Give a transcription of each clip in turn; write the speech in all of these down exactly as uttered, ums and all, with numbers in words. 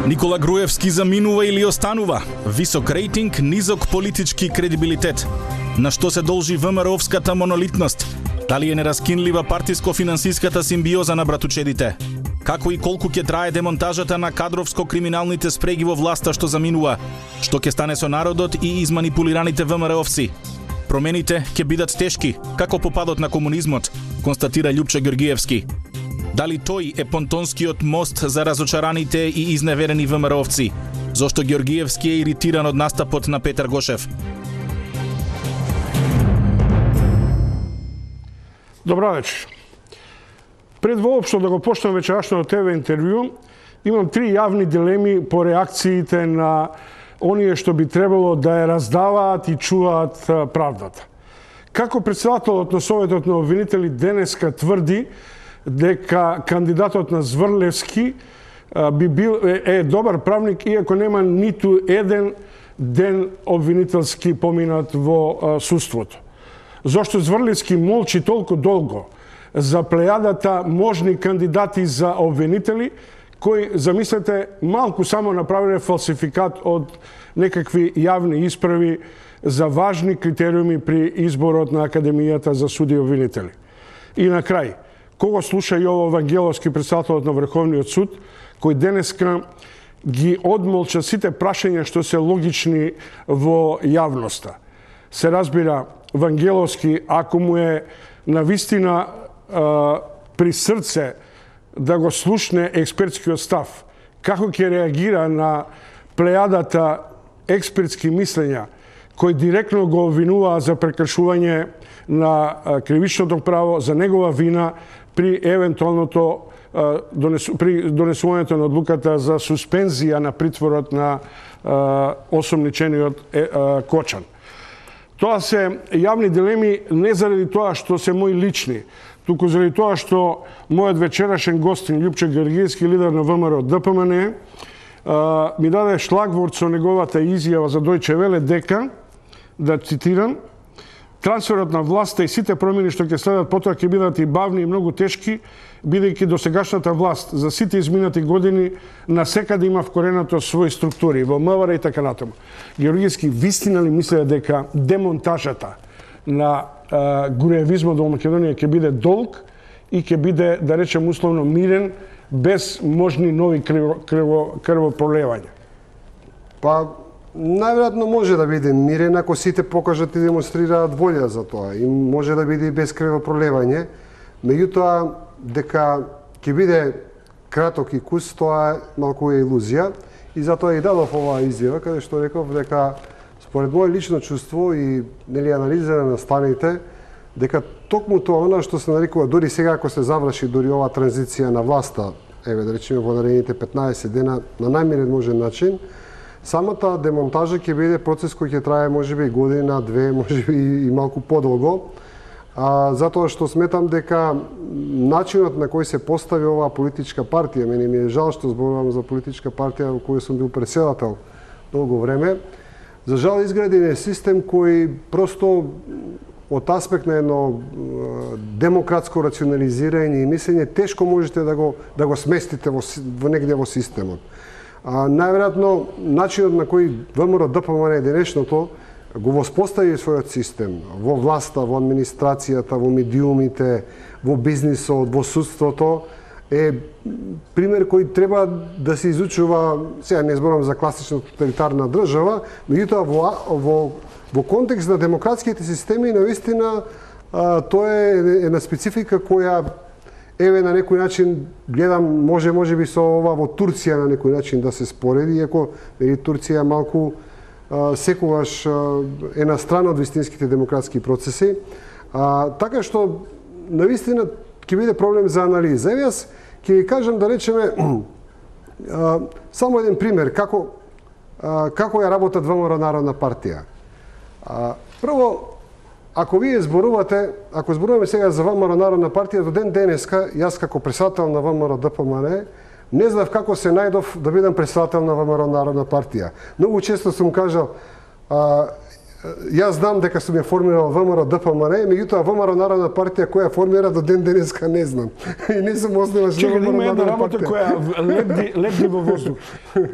Никола Груевски заминува или останува? Висок рейтинг, низок политички кредибилитет. На што се должи ВМРО-вската монолитност? Дали е нераскинлива партиско-финансиската симбиоза на братучедите? Како и колку ќе трае демонтажата на кадровско-криминалните спреги во власта што заминува? Што ќе стане со народот и изманипулираните ВМРО-овци? Промените ќе бидат тешки, како попадот на комунизмот, констатира Љупчо Ѓоргиевски. Дали тој е понтонскиот мост за разочараните и изневерени ВМРО-овци? Зошто Ѓоргиевски е иритиран од настапот на Петар Гошев? Добра вечер. Пред воопшто да го почнам вечерашното ТВ интервју, имам три јавни дилеми по реакциите на оние што би требало да ја раздаваат и чуваат правдата. Како председателот на Советот на обвинители денеска тврди дека кандидатот на Зврлевски би бил е добар правник, иако нема ниту еден ден обвинителски поминат во судството. Зошто Зврлевски молчи толку долго за плејадата можни кандидати за обвинители, кои, замислете, малку само направиле фалсификат од некакви јавни исправи за важни критериуми при изборот на Академијата за суди и обвинители. И на крај, кого слуша Јово Вангеловски, председателот на Врховниот суд, кој денеска ги одмолча сите прашања што се логични во јавноста. Се разбира, Вангеловски, ако му е навистина при срце да го слушне експертскиот став, како ќе реагира на плејадата експертски мислења кои директно го обвинуваа за прекршување на кривичното право, за негова вина при евентуалното при донесувањето на одлуката за суспензија на притворот на осомничениот Кочан. Тоа се јавни дилеми не заради тоа што се мои лични, туку заради тоа што мојот вечерашен гостин Љупчо Ѓоргиевски, лидер на ВМРО Д П М Н, ми даде шлагворд со неговата изјава за Дојче Веле дека, да цитирам, трансферот на власта и сите промени што ќе следат потоа ќе бидат и бавни и многу тешки, бидејќи досегашната власт за сите изминати години насекаде има вкоренато своји структури во М В Р и така натаму. Ѓоргиевски вистина ли мисле дека демонтажата на а, груевизмот во Македонија ќе биде долг и ќе биде, да речем условно, мирен, без можни нови крво, крво, крвопролевања? Па, најверојатно може да биде мирен ако сите покажат и демонстрираат волја за тоа. И може да биде и без крвопролевање. Меѓутоа, дека ќе биде краток и кус, тоа е малку е илузија. И затоа и дадов оваа изјава, каде што реков дека според моје лично чувство и нели анализа на станите, дека токму тоа она што се нарекува, дори сега ако се заврши дори оваа транзиција на власта, еве да речеме во наредните петнаесет дена на најмирен можен начин, самата демонтажа ќе биде процес кој ќе трае можеби година, две, можеби и малку подолго, а, затоа што сметам дека начинот на кој се постави оваа политичка партија, мене ми е жал што зборувам за политичка партија во која сум бил председател долго време, за жал изграден е систем кој просто од аспект на едно демократско рационализирање и мислење тешко можете да го да го сместите во, во негде во системот. А, најверојатно начинот на кој ВМРО Д П М Н денешното го воспостави својот систем во власта, во администрацијата, во медиумите, во бизнисот, во судството е пример кој треба да се изучува, сега не зборам за класична тоталитарна држава, меѓутоа во, во, во контекст на демократските системи навистина тоа е една специфика која еве на некој начин гледам може може би со ова во Турција на некој начин да се спореди, иако нели Турција малку а, секогаш а, е на страна од вистинските демократски процеси. А, така што навистина ќе биде проблем за анализа. Еве јас ќе ви кажам да речеме а, само еден пример како а, како ја работат ВМРО Народна партија. А, прво, ако вие зборувате, ако зборуваме сега за ВМРО Народна партија, до ден денеска, јас како председател на ВМРО Д П М Н, не знав како се најдов да бидам председател на ВМРО Народна партија. Многу често сум кажал, а, Јас знам дека сум ја формирал ВМРО ДПМН, меѓутоа ВМРО Народна партија која формира до ден денеска не знам. И не сум основач на ВМРО има една Народна работа партија. која лебди, лебди во воздух.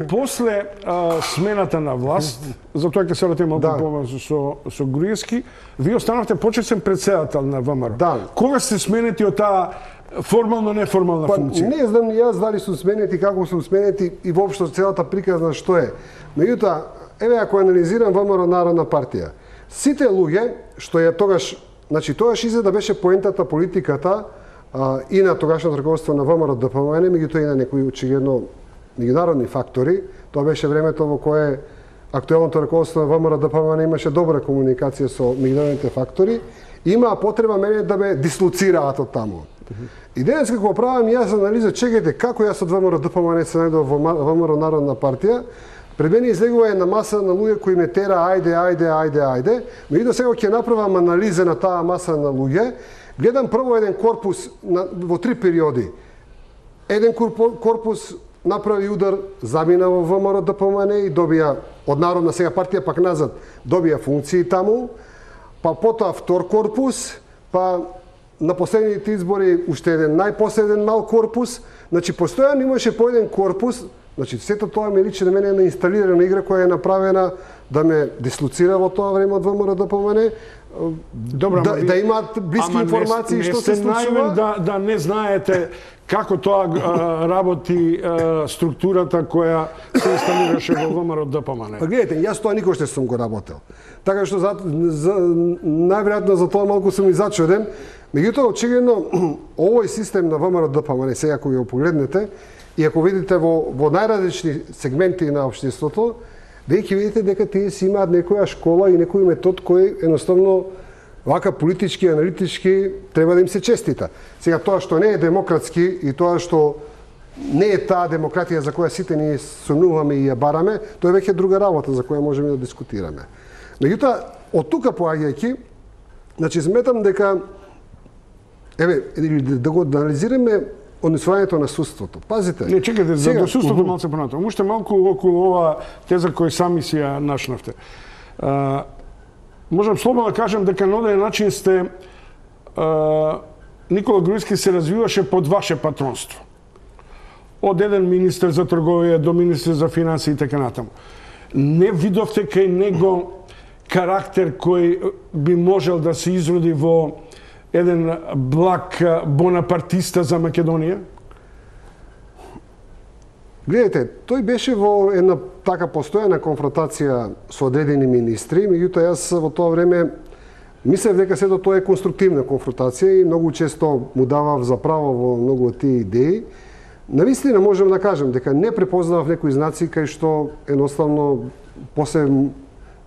После а, смената на власт, затоа ќе се вратиме малку Да. побрзо со со Груевски, вие останавте почетен председател на ВМРО. Да. Кога сте сменети од таа формално неформална Па, функција? не знам ни јас дали сум сменети, како сум сменети и воопшто целата приказна што е. Меѓутоа, еве ако анализирам ВМРО Народна партија, сите луѓе што ја тогаш, значи тогаш изгледа беше поентата политиката а, и на тогашното раководство на ВМРО ДПМН, меѓутоа и на некои очигледно меѓународни фактори. Тоа беше времето во кое актуелното раководство на ВМРО ДПМН имаше добра комуникација со меѓународните фактори, имаа потреба мене да ме дислоцираат од таму. И денес како правам јас анализа, чекајте како јас од ВМРО ДПМН се најдов во ВМРО Народна партија, пред мене излегува една маса на луѓе кои ме тера ајде, ајде, ајде, ајде. Меѓутоа сега ќе направам анализа на таа маса на луѓе. Гледам прво еден корпус на, во три периоди. Еден корпус направи удар, замина во ВМРО ДПМН и добија од Народна сега партија пак назад, добија функции таму. Па потоа втор корпус, па на последните избори уште еден најпоследен мал корпус. Значи постојано имаше по еден корпус. Значи сето тоа ми личи на мене една инсталирана игра која е направена да ме дислоцира во тоа време од ВМРО ДПМН. Добро, да, ви... да имаат блиски ама информации не, што не се случува. Да, да не знаете како тоа а, работи а, структурата која се инсталираше во ВМРО ДПМН. Па гледате, јас тоа никош не сум го работел. Така што за, за, најверојатно за тоа малку сум и зачуден. Меѓутоа, очигледно, овој систем на ВМРО ДПМН, сега ако го погледнете, и ако видите во, во најразлични сегменти на општеството, вие ќе видите дека тие си имаат некоја школа и некој метод кој едноставно вака политички, аналитички треба да им се честита. Сега тоа што не е демократски и тоа што не е таа демократија за која сите ние сумнуваме и ја бараме, тоа е веќе друга работа за која можеме да дискутираме. Меѓутоа, од тука поаѓајќи, значи сметам дека еве да го анализираме однесувањето на судството. Пазите. Не, чекайте, за до судството малце понатаму. Уште малку околу ова теза која сами си ја нашнавте. А, можам слободно да кажем дека на оден начин сте а, Никола Груевски се развиваше под ваше патронство. Од еден министер за трговија до министер за финанси и така натаму. Не видовте кај него карактер кој би можел да се изроди во еден благ бонапартиста за Македонија? Гледайте, тој беше во една така постојана конфронтација со одредени министри, меѓутоа јас во тоа време мислев дека сето тоа е конструктивна конфронтација и многу често му давав за право во многу од тие идеи. Навистина можам да кажам дека не препознавав некои знаци кај што едноставно после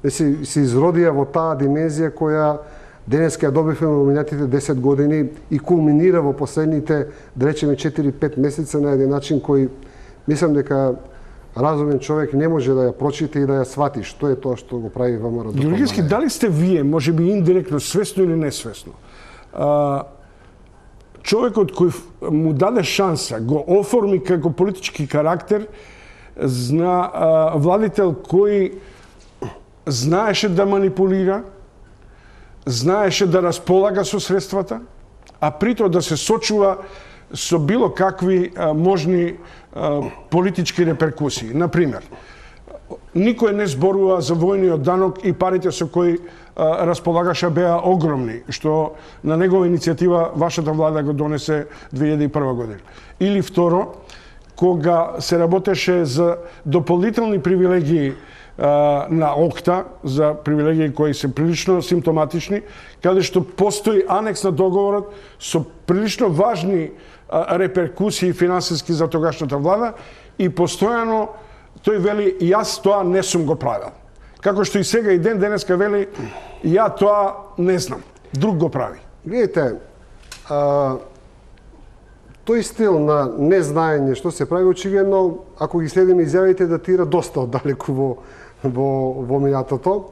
се, се изродија во таа димензија која денеска ја добивме во минатите десет години и кулминира во последните, да речеме, четири-пет месеца на еден начин кој мислам дека разумен човек не може да ја прочита и да ја свати што е тоа што го прави ВМРО ДПМН. Георгиевски, дали сте вие, може би индиректно, свесно или несвесно, а, човекот кој му даде шанса, го оформи како политички карактер, зна, а, владител кој знаеше да манипулира, знаеше да располага со средствата, а притоа да се сочува со било какви а, можни а, политички реперкусии. Например, никој не зборува за војниот данок и парите со кои а, располагаше беа огромни, што на негова иницијатива вашата влада го донесе две илјади и прва година. Или второ, кога се работеше за дополнителни привилегии на ОКТА, за привилегии кои се прилично симптоматични, каде што постои анекс на договорот со прилично важни реперкусии финансиски за тогашната влада и постојано тој вели јас тоа не сум го правил. Како што и сега и ден денеска вели ја тоа не знам, друг го прави. Гледайте, а, тој стил на незнаење што се прави очигледно, ако ги следиме изјавите, датира доста оддалеку во во во минатото.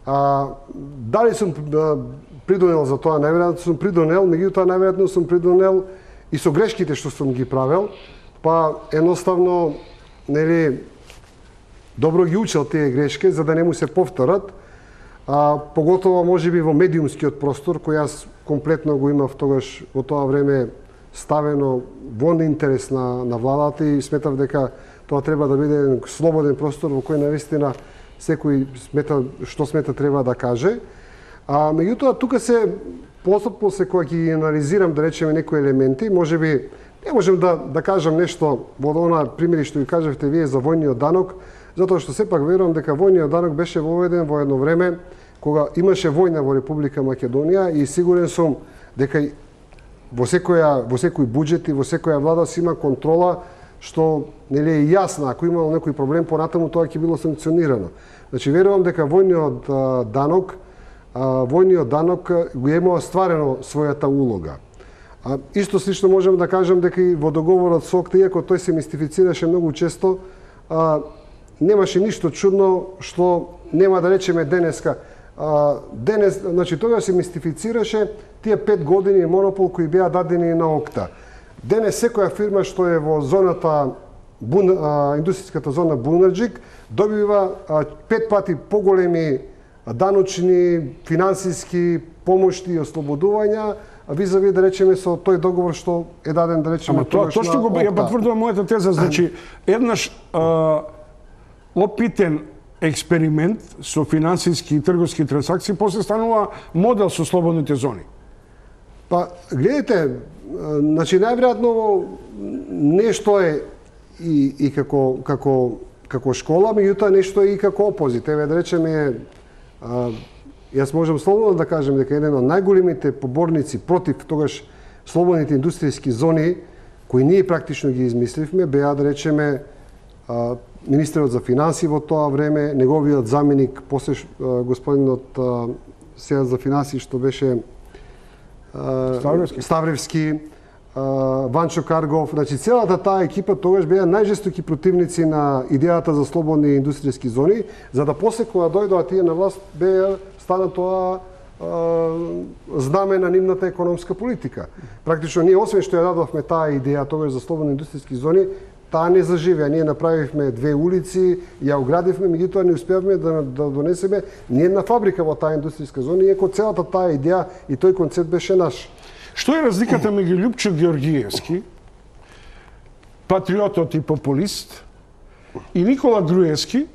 А, дали сум а, придонел за тоа? Најверојатно сум придонел, меѓутоа најверојатно сум придонел и со грешките што сум ги правел, па едноставно нели добро ги учел тие грешки за да не му се повторат. а, поготово можеби во медиумскиот простор, кој јас комплетно го имав тогаш во тоа време ставено во интерес на, на владата и сметав дека тоа треба да биде еден слободен простор во кој навистина секој смета што смета треба да каже. А меѓутоа тука се постапно се кога ќе анализирам да речеме некои елементи, можеби не можем да да кажам нешто во она примери што ги кажавте вие за војниот данок, затоа што сепак верувам дека војниот данок беше воведен во едно време кога имаше војна во Република Македонија и сигурен сум дека во секоја во секој буџет и во секоја влада си има контрола што нели е јасна, ако имало некој проблем понатаму тоа ќе било санкционирано. Значи верувам дека војниот а, данок а, војниот данок го има стварено својата улога. А, исто слично можам да кажам дека и во договорот со ОКТА, иако тој се мистифицираше многу често, а, немаше ништо чудно што нема да речеме денеска. А, денес, значи тоа се мистифицираше тие пет години монопол кои беа дадени на ОКТА. Денес секоја фирма што е во зоната Бун, а, индустријската зона Бунарџик добива а, пет пати поголеми даночни, финансиски помошти и ослободувања визави да речеме со тој договор што е даден да речеме. Ама тоа точно го ја потврдувам мојата теза, значи еднаш а, опитен експеримент со финансиски и трговски трансакции после станува модел со слободните зони. Па гледате, значи најверојатно нешто е и и како како како школа, меѓутоа нешто е и како опозит. Еве да речеме, а, јас можам слободно да кажем дека еден од најголемите поборници против тогаш слободните индустријски зони кои ние практично ги измисливме беа да речеме а, министерот за финансии во тоа време, неговиот заменик, после а, господинот а, сега за финансии што беше а, Ставревски. Ставревски, Ванчо Каргов, значи целата таа екипа тогаш беа најжестоки противници на идејата за слободни индустријски зони, за да после кога дојдоа тие на власт беа стана тоа а, знаме на нивната економска политика. Практично ние освен што ја дадовме таа идеја тогаш за слободни индустријски зони, таа не заживеа. Ние направивме две улици, ја оградивме, меѓутоа не успеавме да, да донесеме ни една фабрика во таа индустријска зона, иако целата таа идеја и тој концепт беше наш. Што е разликата меѓу Љупчо Георгиевски, патриотот и популист, и Никола Груевски,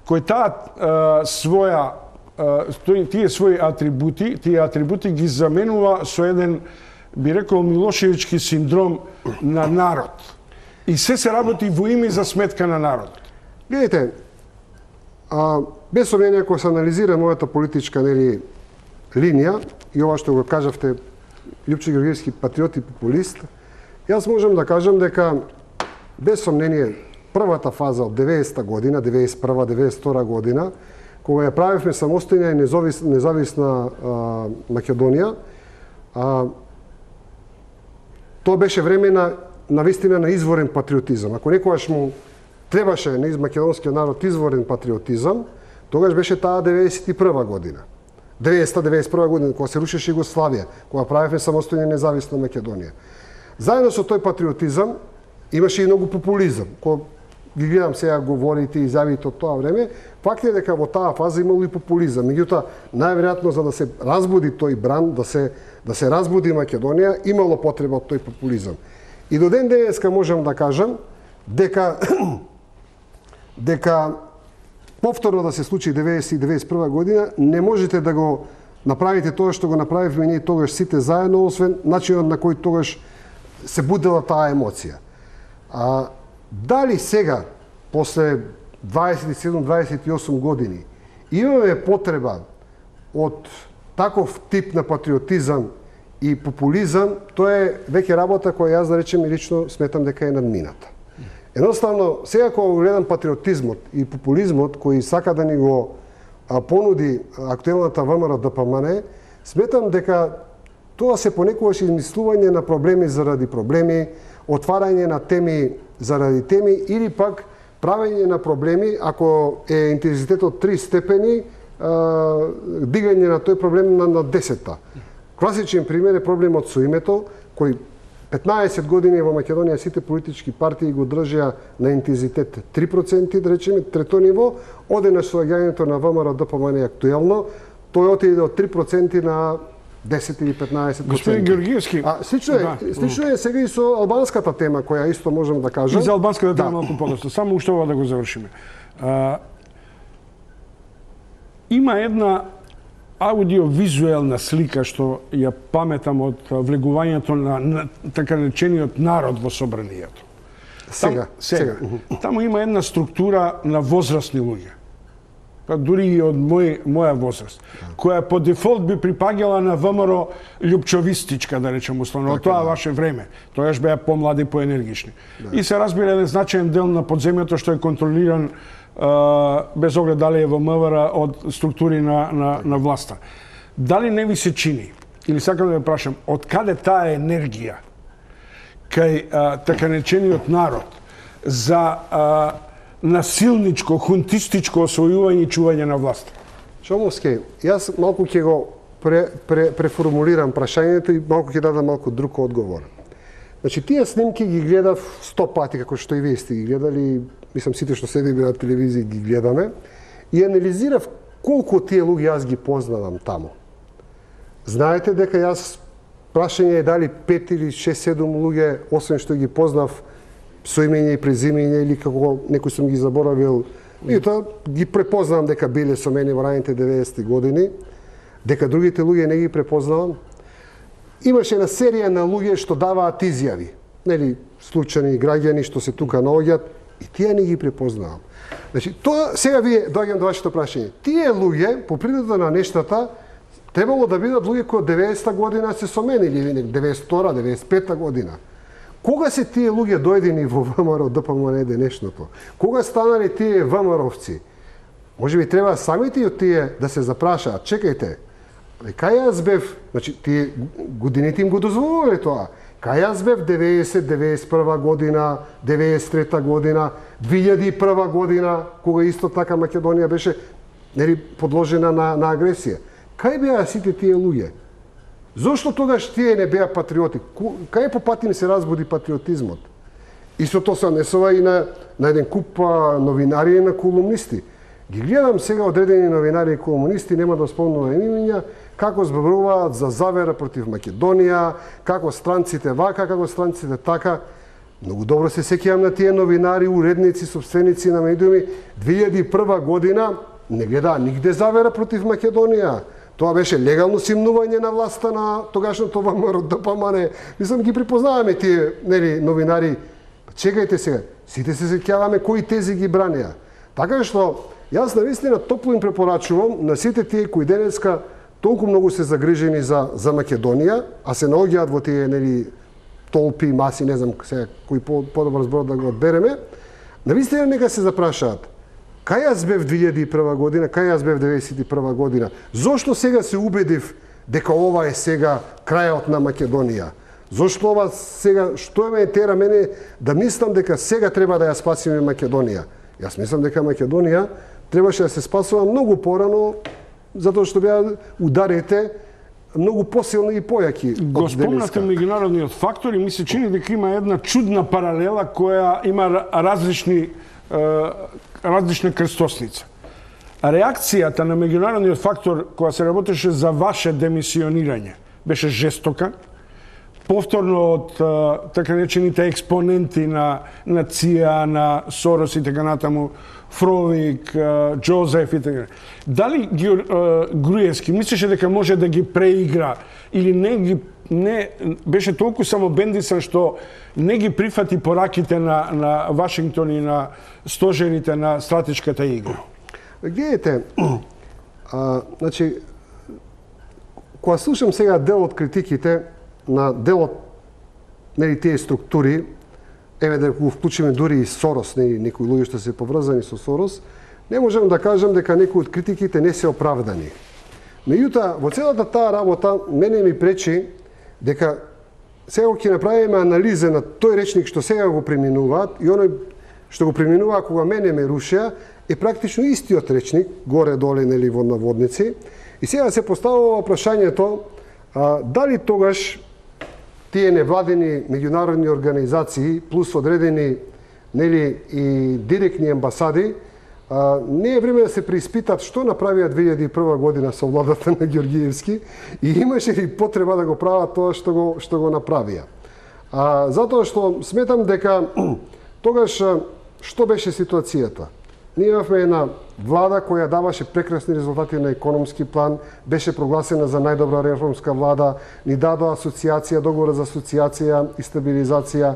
кој таа а, своја а, тие своји атрибути, тие атрибути ги заменува со еден, би рекол, Милошевички синдром на народ. И се се работи во име за сметка на народот. Гледайте, а, без сомнение, ако се анализира мојата политичка нели, линија, и ова што го кажавте, Љупчо Георгиевски патриот и популист, јас можам да кажам дека, без сомнение, првата фаза од деветдесета година, деветдесет и прва деветдесет и втора година, кога ја правивме самостојна и независ, независна а, Македонија, а, тоа беше време на навистина на изворен патриотизам. Ако некогаш му требаше на македонскиот народ изворен патриотизам, тогаш беше таа деветдесет и прва година. деветдесета деветдесет и прва година, кога се рушеше Југославија, кога правевме самостојна и независна Македонија. Заедно со тој патриотизам имаше и многу популизам, кој ги гледам сега говорите и изјавите од тоа време. Факт е дека во таа фаза имало и популизам. Меѓутоа, најверојатно за да се разбуди тој бран, да се да се разбуди Македонија, имало потреба од тој популизам. И до ден денеска можам да кажам дека дека повторно да се случи деветдесет и деветдесет и прва година, не можете да го направите тоа што го направивме ние тогаш сите заедно, освен начинот на кој тогаш се будела таа емоција. А дали сега, после дваесет и седум дваесет и осум години, имаме потреба од таков тип на патриотизам и популизам, тоа е веќе работа која јас да речем и лично сметам дека е надмината. Едноставно, сега кога го гледам патриотизмот и популизмот кој сака да ни го а, понуди актуелната ВМРО Д П М Н, сметам дека тоа се понекогаш измислување на проблеми заради проблеми, отварање на теми заради теми или пак правење на проблеми, ако е интензитетот три степени, а, дигање на тој проблем на, на десетта. Класичен пример е проблемот со името, кој петнаесет години во Македонија сите политички партии го држеа на интензитет три проценти, да речеме, трето ниво, оде на соаѓањето на ВМРО ДПМН актуелно, тој отиде од три проценти на десет или петнаесет проценти. Господин Георгиевски, а слично е, да. слично е сега и со албанската тема која исто можам да кажам. И за албанската тема да. малку подоцна. Само уште ова да го завршиме. А, има една аудиовизуелна слика што ја паметам од влегувањето на, на така наречениот народ во собранието. Сега, Там, сега. сега. Таму има една структура на возрастни луѓе. Па дури и од мој, моја возраст, која по дефолт би припаѓала на ВМРО љупчовистичка, да речем условно, така, тоа да. Ваше време. Тоаш беа помлади, поенергични. Да. И се разбира еден значаен дел на подземјето што е контролиран Uh, без оглед дали е во МВР од структури на, на, на власта. Дали не ви се чини, или сакам да ве прашам, од каде таа енергија кај uh, така наречениот народ за uh, насилничко, хунтистичко освојување и чување на власт? Шомовски, јас малку ќе го пре, пре, преформулирам прашањето и малку ќе дадам малку друг одговор. Значи, тие снимки ги гледав сто пати, како што и вие сте ги гледали, мислам сите што седиме на телевизија ги гледаме, и анализирав колку тие луѓе јас ги познавам таму. Знаете дека јас прашање е дали пет или шест-седум луѓе, освен што ги познав со имење и презимење или како некој сум ги заборавил, и тоа ги препознавам дека биле со мене во раните деветдесетти години, дека другите луѓе не ги препознавам. Имаше една серија на луѓе што даваат изјави, нели, случајни граѓани што се тука наоѓаат, и тие не ги препознавам. Значи, тоа сега вие доаѓам до вашето прашање. Тие луѓе, по природа на нештата, требало да бидат луѓе кои од деветдесета година се со мене, или деветдесет и втора, деветдесет и пета година. Кога се тие луѓе дојдени во ВМРО ДПМН денешното? Кога станале тие ВМРО-овци? Може би треба самите и од тие да се запрашаат. Чекајте, кај јас бев, значи тие годините им го дозволувале тоа. Кај јас бев деветдесет, деветдесет и прва година, деветдесет и трета година, две илјади и прва година, кога исто така Македонија беше нели подложена на, на агресија. Кај беа сите тие луѓе? Зошто тогаш тие не беа патриоти? Кај по пат им се разбуди патриотизмот? Истото се однесува и на, на еден куп новинари и на колумнисти. Ги гледам сега одредени новинари и колумнисти, нема да спомнувам имиња, како зборуваат за завера против Македонија, како странците вака, како странците така. Многу добро се сеќавам на тие новинари, уредници, собственици на медиуми, две илјади и прва година не гледаа нигде завера против Македонија. Тоа беше легално симнување на власта на тогашното ВМРО ДПМН. Мислам, ги припознаваме тие нели новинари. Чекајте сега, сите се сеќаваме кои тези ги бранеа. Така што јас навистина топло им препорачувам на сите тие кои денеска толку многу се загрижени за за Македонија, а се наоѓаат во тие нели толпи, маси, не знам сега кој по, подобар збор да го одбереме, навистина нека се запрашаат. Кај јас бев две илјади и прва година, кај јас бев деветдесет и прва година? Зошто сега се убедив дека ова е сега крајот на Македонија? Зошто ова сега, што ме тера мене да мислам дека сега треба да ја спасиме Македонија? Јас мислам дека Македонија требаше да се спасува многу порано, затоа што беа ударите многу посилни и појаки. Го спомнате меѓународниот фактор и ми се чини дека има една чудна паралела која има различни различна крстосница. Реакцијата на меѓународниот фактор која се работеше за ваше демисионирање беше жестока. Повторно од така наречените експоненти на на ЦИА, на Сорос и така натаму, Фровик, Џозеф и така. Дали Груевски мислеше дека може да ги преигра или не ги не беше толку самобендисан што не ги прифати пораките на на Вашингтон и на стожерите на стратешката игра? Гледайте, а, значи, кога слушам сега дел од критиките на делот нели тие структури, еве да го вклучиме дури и Сорос, нели некои луѓе што се поврзани со Сорос, не можам да кажам дека некои од критиките не се оправдани. Меѓутоа, во целата таа работа мене ми пречи дека сега ќе направиме анализа на тој речник што сега го преминуваат и оној што го преминуваа кога мене ме рушеа е практично истиот речник, горе-доле нели во наводници. И сега се поставува прашањето а, дали тогаш тие невладени меѓународни организации плюс одредени нели и директни амбасади, а, не е време да се преиспитат што направија две илјади и прва година со владата на Ѓоргиевски и имаше ли потреба да го прават тоа што го што го направија. А, затоа што сметам дека тогаш што беше ситуацијата? Ние имавме една влада која даваше прекрасни резултати на економски план, беше прогласена за најдобра реформска влада, ни дадоа асоциација, договор за асоциација и стабилизација.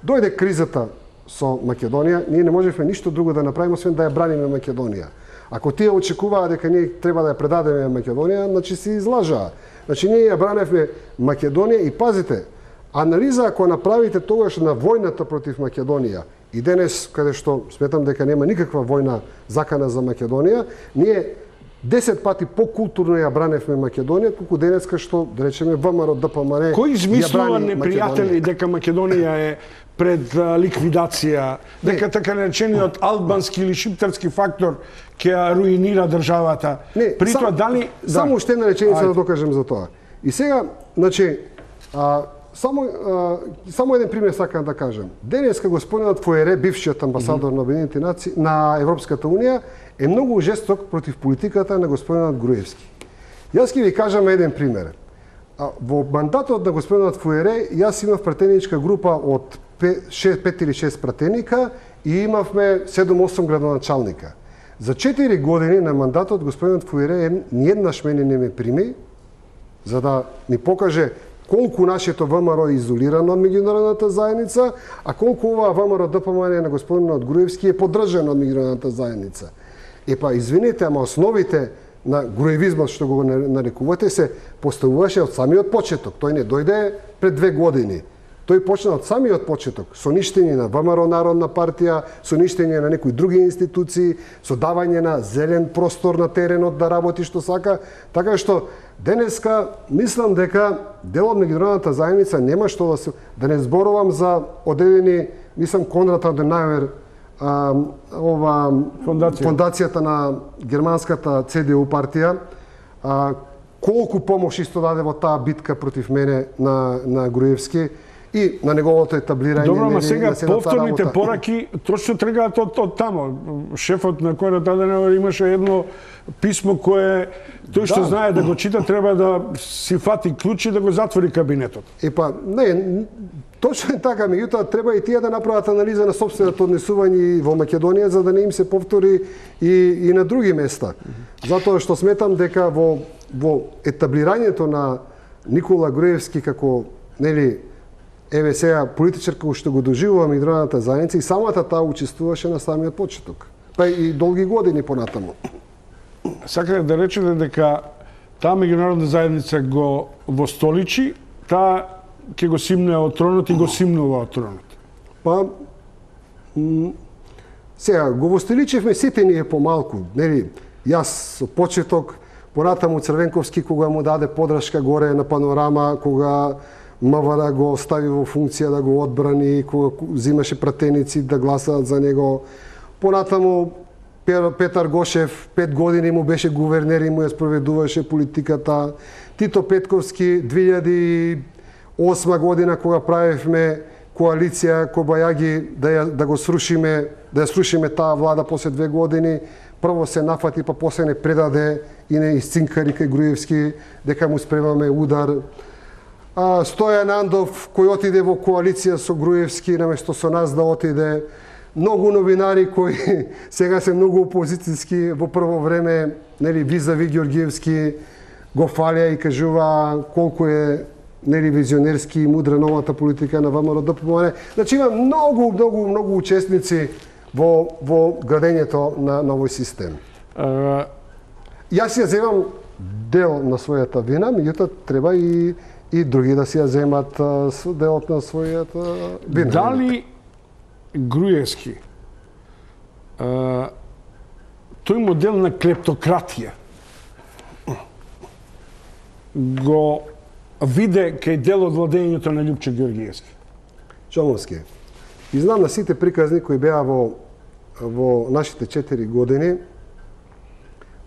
Дојде кризата со Македонија, ние не можевме ништо друго да направиме освен да ја браниме Македонија. Ако тие очекуваа дека ние треба да ја предадеме Македонија, значи се излажаа. Значи ние ја браневме Македонија и пазите, анализа ако направите тогаш на војната против Македонија и денес, каде што сметам дека нема никаква војна закана за Македонија, ние десет пати покултурно ја браневме Македонија, колку денеска што, да речеме, ВМРО ДПМН Кој измислува непријатели дека Македонија е пред а, ликвидација, дека не. Така наречениот албански или шиптарски фактор ќе ја руинира државата? Не, При сам, тоа дали... Само уште една реченица да докажем за тоа. И сега, значи, а, Само, а, само еден пример сакам да кажем. Денеска господинот Фуере, бившиот амбасадор mm -hmm. на Обединетите нации, на Европската унија, е многу жесток против политиката на господинот Груевски. Јас ќе ви кажам еден пример. А, во мандатот на господинот Фуере, јас имав пратеничка група од пет или шест пратеника и имавме седум-осум градоначалника. За четири години на мандатот господинот Фуере ниеднаш мене не ме прими, за да ни покаже колку нашето ВМРО е изолирано од меѓународната заедница, а колку оваа ВМРО ДПМН на господинот Груевски е поддржано од меѓународната заедница. Епа, извините, ама основите на груевизмот, што го нарекувате, се поставуваше од самиот почеток. Тој не дојде пред две години. Тој почна од самиот почеток, со ништење на ВМРО Народна партија, со ништење на некои други институции, со давање на зелен простор на теренот да работи што сака, така што денеска мислам дека дел од меѓународната заедница нема што да се да не зборувам за одедени, мислам Конрад Аденауер, а, ова Фондација. фондацијата на германската Це Де У партија, а, колку помош исто даде во таа битка против мене на на Груевски и на неговото етаблирање. Добро, ама сега повторните пораки точно тргаат од, од тамо. Шефот на Конрад Аденауер имаше едно писмо кое тој што да. знае да го чита треба да си фати клуч и да го затвори кабинетот. Епа, не, точно е така, меѓутоа треба и тие да направат анализа на сопственото однесување во Македонија за да не им се повтори и и на други места. Затоа што сметам дека во во етаблирањето на Никола Груевски како нели еве сега политичар кој што го доживува меѓународната заедница и самата таа учествуваше на самиот почеток. Па и долги години понатаму. Сакате да речете дека таа меѓународна заедница го востоличи, таа ќе го симне од тронот и го симнува од тронот. Па сега го востоличевме сите ние помалку, нели? Јас со почеток, понатаму Црвенковски кога му даде подршка горе на Панорама, кога МВР го стави во функција да го одбрани, кога взимаше пратеници да гласаат за него. Понатаму Петар Гошев пет години му беше гувернер и му ја спроведуваше политиката. Тито Петковски две илјади и осма година кога правевме коалиција Кобајаги да ја, да го срушиме, да ја срушиме таа влада после две години, прво се нафати па после не предаде и не исцинкари кај Груевски дека му спремаме удар. А, Стојан Андов кој отиде во коалиција со Груевски наместо со нас да отиде. Многу новинари кои сега се многу опозицијски во прво време, нели визави Ѓоргиевски го фалија и кажува колку е нели визионерски и мудра новата политика на ВМРО ДПМН. Значи има многу многу многу учесници во во градењето на новој систем. Uh... Јас ја земам дел на својата вина, меѓутоа треба и и други да си ја земат делот на својата вина. Дали Груевски uh, тој модел на клептократија го виде кај дел од владењето на Љупчо Ѓоргиевски? Чомовски. И знам на сите приказни кои беа во во нашите четири години.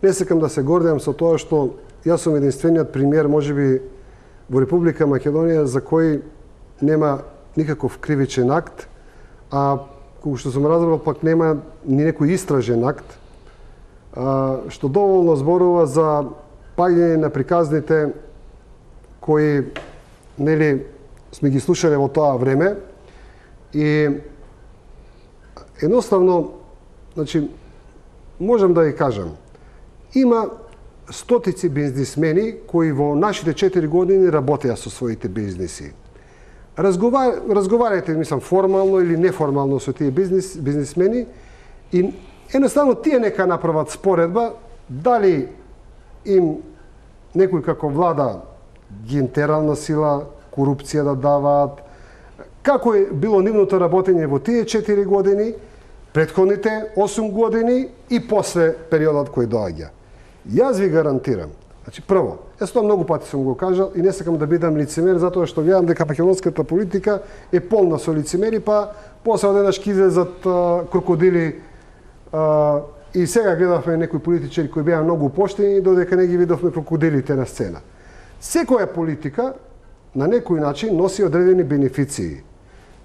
Не сакам да се гордеам со тоа што јас сум единствениот пример, можеби во Република Македонија за кој нема никаков кривичен акт, а колку што сум разбрал пак нема ни некој истражен акт, а, што доволно зборува за паѓање на приказните кои, нели, сме ги слушале во тоа време и едноставно, значи, можам да ви кажам, има стотици бизнисмени кои во нашите четири години работеа со своите бизниси. Разговар... Разговарајте, мислам, формално или неформално со тие бизнис... бизнисмени и едноставно тие нека направат споредба дали им некој како влада ги интерална сила, корупција да даваат, како е било нивното работење во тие четири години, претходните осум години и после периодот кој доаѓа. Јас ви гарантирам, значи прво, јас тоа многу пати сум го кажал и не сакам да бидам лицемер затоа што гледам дека македонската политика е полна со лицемери, па после одеднаш ќе излезат крокодили а, и сега гледавме некои политичари кои беа многу поштени додека не ги видовме крокодилите на сцена. Секоја политика на некој начин носи одредени бенефиции.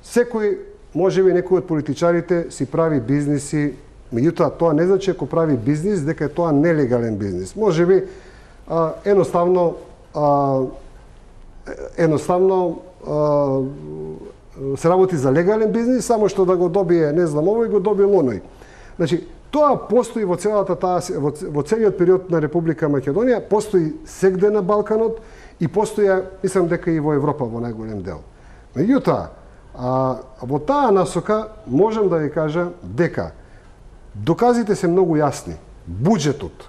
Секој, можеби некој од политичарите си прави бизниси, меѓутоа тоа не значи ако прави бизнис дека е тоа нелегален бизнис. Можеби а, едноставно а, едноставно а, се работи за легален бизнис, само што да го добие, не знам, овој го добил оној. Значи, тоа постои во целата таа во, во целиот период на Република Македонија, постои сегде на Балканот и постоја, мислам дека и во Европа во најголем дел. Меѓутоа, а, во таа насока можам да ви кажа дека доказите се многу јасни. Буџетот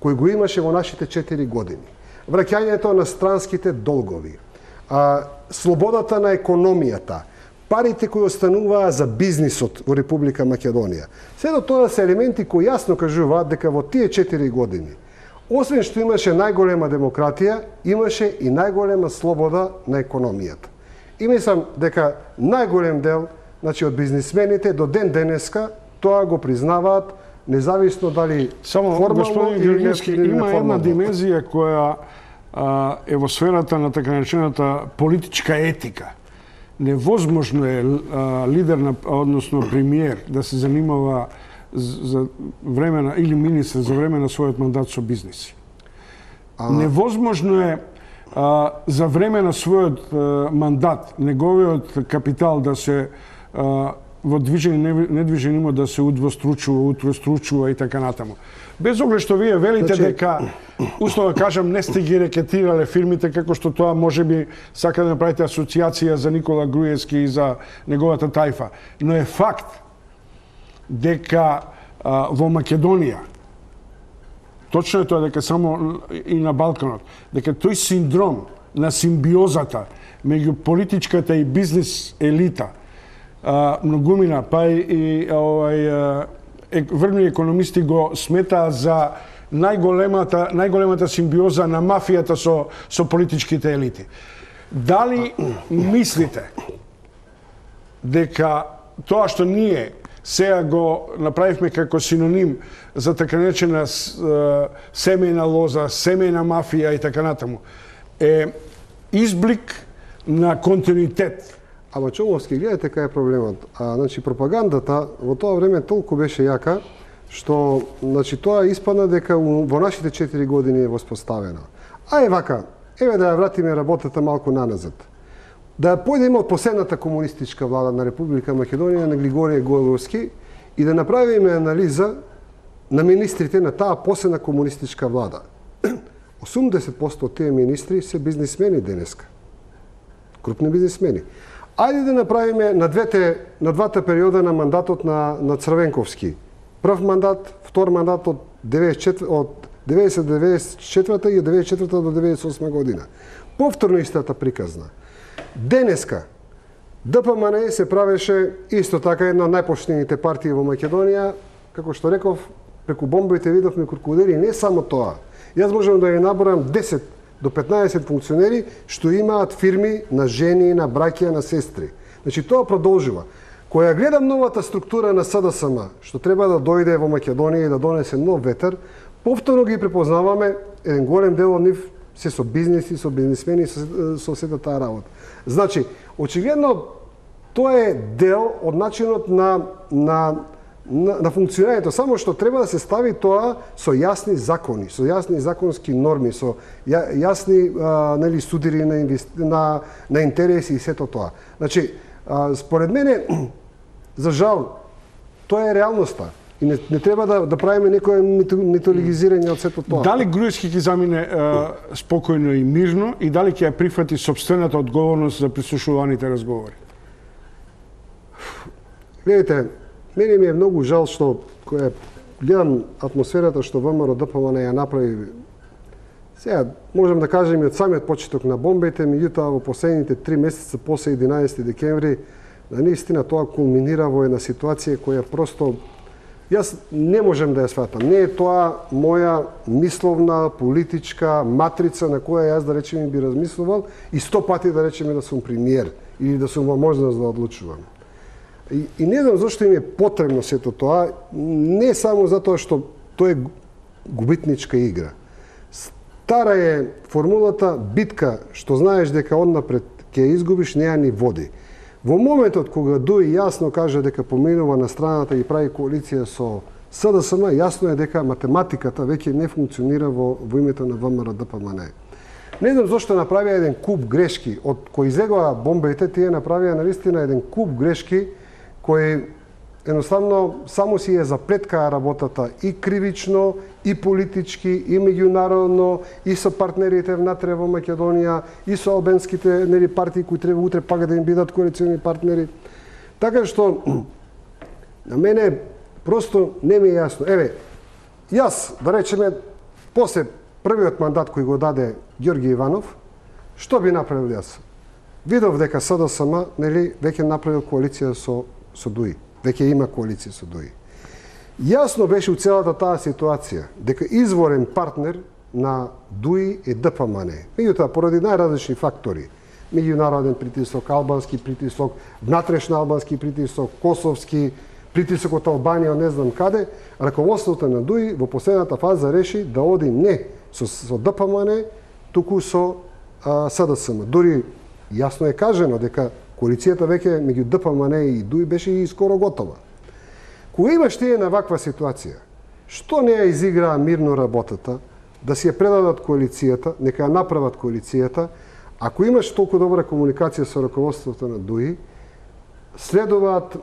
кој го имаше во нашите четири години, враќањето на странските долгови, а, слободата на економијата, парите кои остануваа за бизнисот во Република Македонија. Сето тоа се елементи кои јасно кажуваат дека во тие четири години, освен што имаше најголема демократија, имаше и најголема слобода на економијата. И мислам дека најголем дел, значи од бизнисмените до ден денеска тоа го признаваат, независно дали само формално или Георгиевски, има една димензија која а, е во сферата на така наречената политичка етика. Невозможно е а, лидер на, односно премиер да се занимава за време на, или министр за време на својот мандат со бизниси. А... Невозможно е а, за време на својот а, мандат неговиот капитал да се а, во движен и недвижен имот да се удвостручува, утростручува и така натаму. Без оглед што вие велите значи... дека, условно кажам, не сте ги рекетирале фирмите, како што тоа можеби сака да направите асоциација за Никола Груевски и за неговата тајфа. Но е факт дека а, во Македонија, точно е тоа дека само и на Балканот, дека тој синдром на симбиозата меѓу политичката и бизнис елита, а, многумина, па и, и овај, е, врвни економисти го сметаа за најголемата најголемата симбиоза на мафијата со со политичките елити. Дали мислите дека тоа што ние сега го направивме како синоним за така наречена семејна лоза, семејна мафија и така натаму, е изблик на континуитет? Ама Чомовски, гледате кај е проблемот. А, значи, пропагандата во тоа време толку беше јака, што значи, тоа испадна дека во нашите четири години е воспоставена. А е вака, еве да ја вратиме работата малку наназад. Да појдеме од последната комунистичка влада на Република Македонија на Григорije Гојловски и да направиме анализа на министрите на таа последна комунистичка влада. осумдесет проценти од тие министри се бизнисмени денеска. Крупни бизнисмени. Ајде да направиме на двете на двата периода на мандатот на на Црвенковски. Прв мандат, втор мандат од деветдесет и деветдесет и четврта и од деветдесет и четврта до деветдесет и осма година. Повторно истата приказна. Денеска Д П М Н се правеше исто така една од најпоштените партии во Македонија, како што реков, преку бомбите видовме крокодили, не само тоа. Јас можам да ја наборам десет до петнаесет функционери што имаат фирми на жени, на браќа, на сестри. Значи тоа продолжува. Која гледам новата структура на С Д С М, што треба да дојде во Македонија и да донесе нов ветер, повторно ги препознаваме, еден голем дел од нив се со бизниси, со бизнисмени, со, со сета таа работа. Значи, очигледно тоа е дел од начинот на на на, на функционирањето, само што треба да се стави тоа со јасни закони, со јасни законски норми, со ја, јасни а, нели судири на, инвести... на на интереси и сето тоа. Значи, а, според мене, за жал, тоа е реалноста. И не, не треба да, да правиме некое митологизирање од сето тоа. Дали Груевски ќе замине а, спокојно и мирно и дали ќе ја прифати сопствената одговорност за прислушуваните разговори? Гледайте, мене ми е многу жал што која гледам атмосферата што ВМРО-ДПМН ја направи. Сега можам да кажем и од самиот почеток на бомбите, меѓутоа во последните три месеца после единаесети декември, на наистина тоа кулминира во една ситуација која просто јас не можам да ја сватам. Не е тоа моја мисловна, политичка матрица на која јас да речеме би размислувал и сто пати да речеме да сум премиер или да сум во можност да одлучувам. И, и не знам зашто им е потребно сето тоа, не само затоа што тоа е губитничка игра. Стара е формулата битка, што знаеш дека однапред ќе изгубиш, не ја ни води. Во моментот кога Дуи јасно кажа дека поминува на страната и прави коалиција со СДСМ, јасно е дека математиката веќе не функционира во, во името на ВМРО-ДПМН. Не знам зашто направија еден куп грешки, од кои излегоа бомбите, тие направија навистина еден куп грешки кои едноставно само си е заплеткаа работата и кривично, и политички, и меѓународно, и со партнерите внатре во Македонија, и со албанските нели партии кои треба утре пак да им бидат коалициони партнери. Така што на мене просто не ми е јасно. Еве, јас да речеме после првиот мандат кој го даде Ѓорги Иванов, што би направил јас? Видов дека СДСМ нели веќе направил коалиција со со Дуи. Веќе има коалиција со Дуи. Јасно беше у целата таа ситуација дека изворен партнер на Дуи е ДПМН. Меѓутоа, поради најразлични фактори, меѓународен притисок, албански притисок, внатрешно албански притисок, косовски притисок од Албанија, не знам каде, раководството на Дуи во последната фаза реши да оди не со, со ДПМН, туку со а, СДСМ. Дури јасно е кажено дека коалицијата веќе меѓу ДПМН и Дуи беше и скоро готова. Кога имаш тие на ваква ситуација, што не ја изиграа мирно работата, да си ја предадат коалицијата, нека ја направат коалицијата, ако имаш толку добра комуникација со раководството на Дуи, следуваат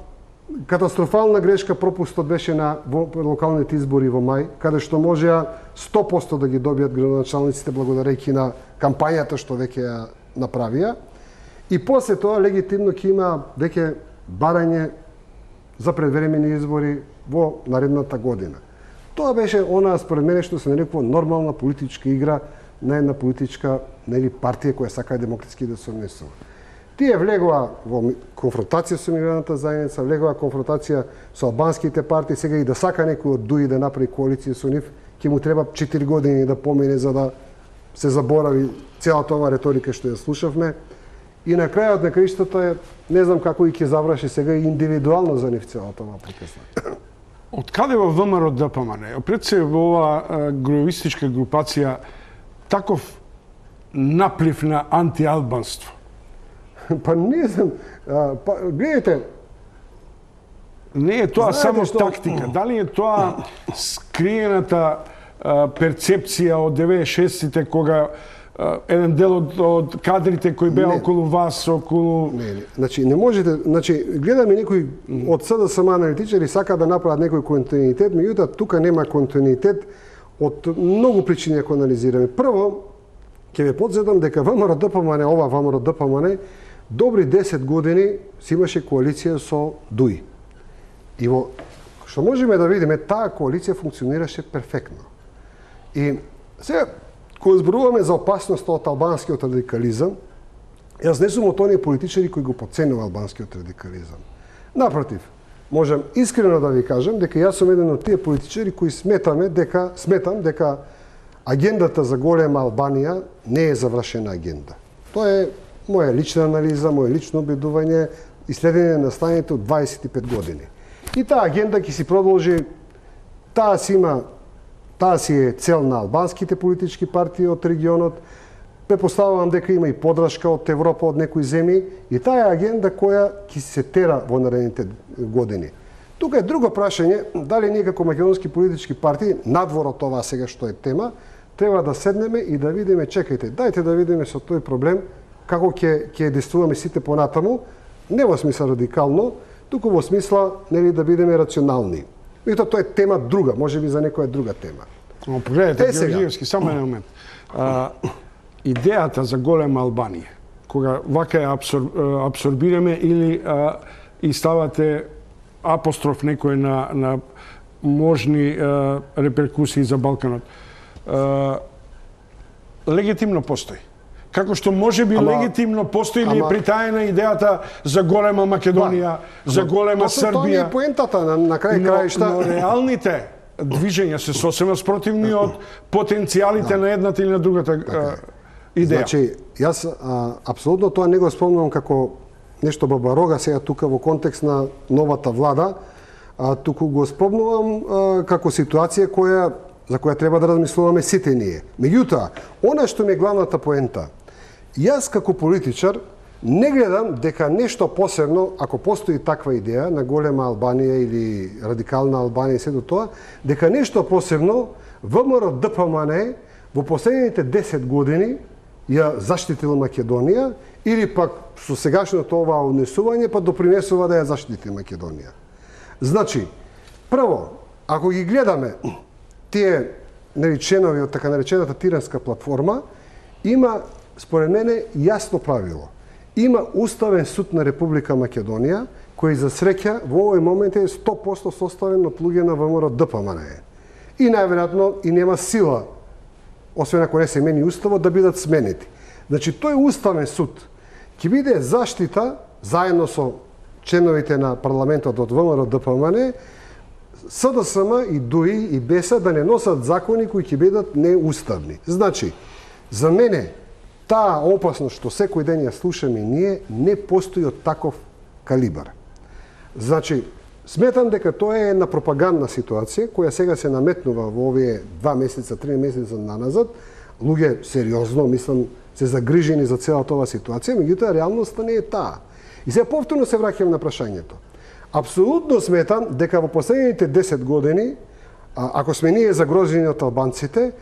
катастрофална грешка, пропустот беше на локалните избори во мај, каде што можеа сто проценти да ги добијат градоначалниците благодарејќи на кампањата што веќе ја направија. И после тоа легитимно ќе има веќе барање за предвремени избори во наредната година. Тоа беше она според мене што се нарекува нормална политичка игра на една политичка нели партија која сака демократски да се однесува. Тие влегоа во конфронтација со меѓународната заедница, влегоа конфронтација со албанските партии, сега и да сака некој од Дуи да направи коалиција со нив, ќе му треба четири години да помине за да се заборави целата ова реторика што ја слушавме. И на крајот на краиштата, не знам како и ќе заврши сега и индивидуално за нив целата ова прекесна. Од каде во ВМРО-ДПМН, пред се во ова груевистичка групација, таков наплив на антиалбанство? Па не знам, а, па, гледайте. Не е тоа Знаете само што... тактика, дали е тоа скриената а, перцепција од деветдесет и шестите кога еден дел од, од кадрите кои беа не, околу вас, околу... Не, не. Значи, не можете... Значи, гледаме некои од СДСМ аналитичари сака да направат некој континуитет, меѓутоа тука нема континуитет од многу причини ако анализираме. Прво, ќе ве подсетам дека ВМРО-ДПМН, ова ВМРО-ДПМН, добри десет години си имаше коалиција со Дуи. И во што можеме да видиме, таа коалиција функционираше перфектно. И сега, кога зборуваме за опасност од албанскиот радикализам, јас не сум од оние политичари кои го потценува албанскиот радикализам. Напротив, можам искрено да ви кажам дека јас сум еден од тие политичари кои сметаме дека сметам дека агендата за голема Албанија не е завршена агенда. Тоа е моја лична анализа, моје лично убедување и следење на станите од дваесет и пет години. И таа агенда ќе си продолжи, таа си има Таа си е цел на албанските политички партии од регионот, Предпоставувам дека има и подршка од Европа, од некои земји, и таа е агенда која ќе се тера во наредните години. Тука е друго прашање, дали ние како македонски политички партии, надвор од това сега што е тема, треба да седнеме и да видиме, чекајте, дајте да видиме со тој проблем како ќе ќе действуваме сите понатаму, не во смисла радикално, туку во смисла нели да бидеме рационални. И тоа е тема друга, можеби за некоја друга тема. Но погледнете, Георгиевски, само еден момент. А, идејата за голема Албанија, кога вака ја абсор, абсорбираме или а, и ставате апостроф некој на, на можни а, реперкусии за Балканот, а, легитимно постои. Како што може би ама, легитимно постои ли е притаена идејата за голема Македонија, да, за голема Србија. Тоа е поентата на, на крај краишта. Но, но реалните движења се сосема спротивни од потенцијалите да. на едната или на другата така. идеја. Значи, јас а, апсолутно тоа не го спомнувам како нешто бабарога сега тука во контекст на новата влада, а туку го спомнувам а, како ситуација која за која треба да размислуваме сите ние. Меѓутоа, она што ми е главната поента, јас како политичар не гледам дека нешто посебно, ако постои таква идеја на голема Албанија или радикална Албанија и сето тоа, дека нешто посебно ВМРО ДПМН во последните десет години ја заштитила Македонија или пак со сегашното ова однесување па допринесува да ја заштити Македонија. Значи, прво, ако ги гледаме тие нели членови од така наречената Тиранска платформа, има според мене јасно правило. Има Уставен суд на Република Македонија, кој за среќа во овој момент е сто проценти составен од луѓе на ВМРО ДПМН. И најверојатно и нема сила, освен ако не се мени уставот, да бидат сменети. Значи, тој Уставен суд ќе биде заштита заедно со членовите на парламентот од ВМРО ДПМН, СДСМ и ДУИ и БЕСА да не носат закони кои ќе бидат неуставни. Значи, за мене таа опасност што секој ден ја слушаме ние не постои од таков калибар. Значи, сметам дека тоа е една пропагандна ситуација која сега се наметнува во овие два месеца, три месеца наназад. Луѓе сериозно, мислам, се загрижени за целата ова ситуација, меѓутоа реалноста не е таа. И сега повторно се враќам на прашањето. Апсолутно сметам дека во последните десет години, ако сме ние загрозени од албанците,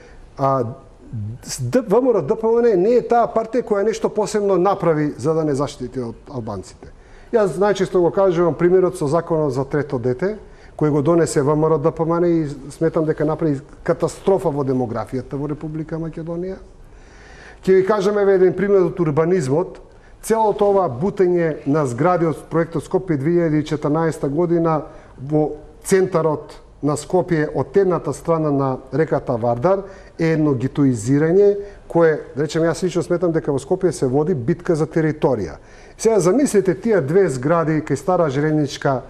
ВМРО ДПМН не е таа партија која нешто посебно направи за да не заштити од албанците. Јас најчесто го кажувам примерот со законот за трето дете, кој го донесе ВМРО ДПМН и сметам дека направи катастрофа во демографијата во Република Македонија. Ќе ви кажеме еден пример од урбанизмот. Целото ова бутење на згради од проектот Скопје две илјади и четрнаесета година во центарот на Скопје од едната страна на реката Вардар е едно гетоизирање кое, да речем, јас лично сметам дека во Скопје се води битка за територија. Сега замислете тие две згради кај Стара Железничка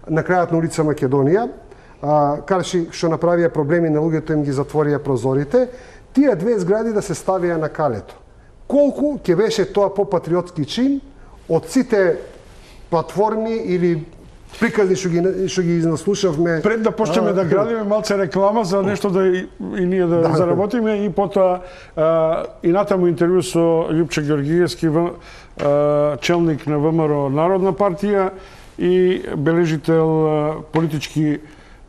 на крајот на улица Македонија, карши што направија проблеми на луѓето, им ги затворија прозорите, тие две згради да се ставија на калето. Колку ќе беше тоа попатриотски чин од сите платформи или приказни што ги што ги наслушавме. Пред да почнеме да градиме малце реклама за нешто да и, и ние да, да заработиме и потоа а, и натаму интервју со Љупче Георгиевски, а, челник на ВМРО Народна партија и бележител а, политички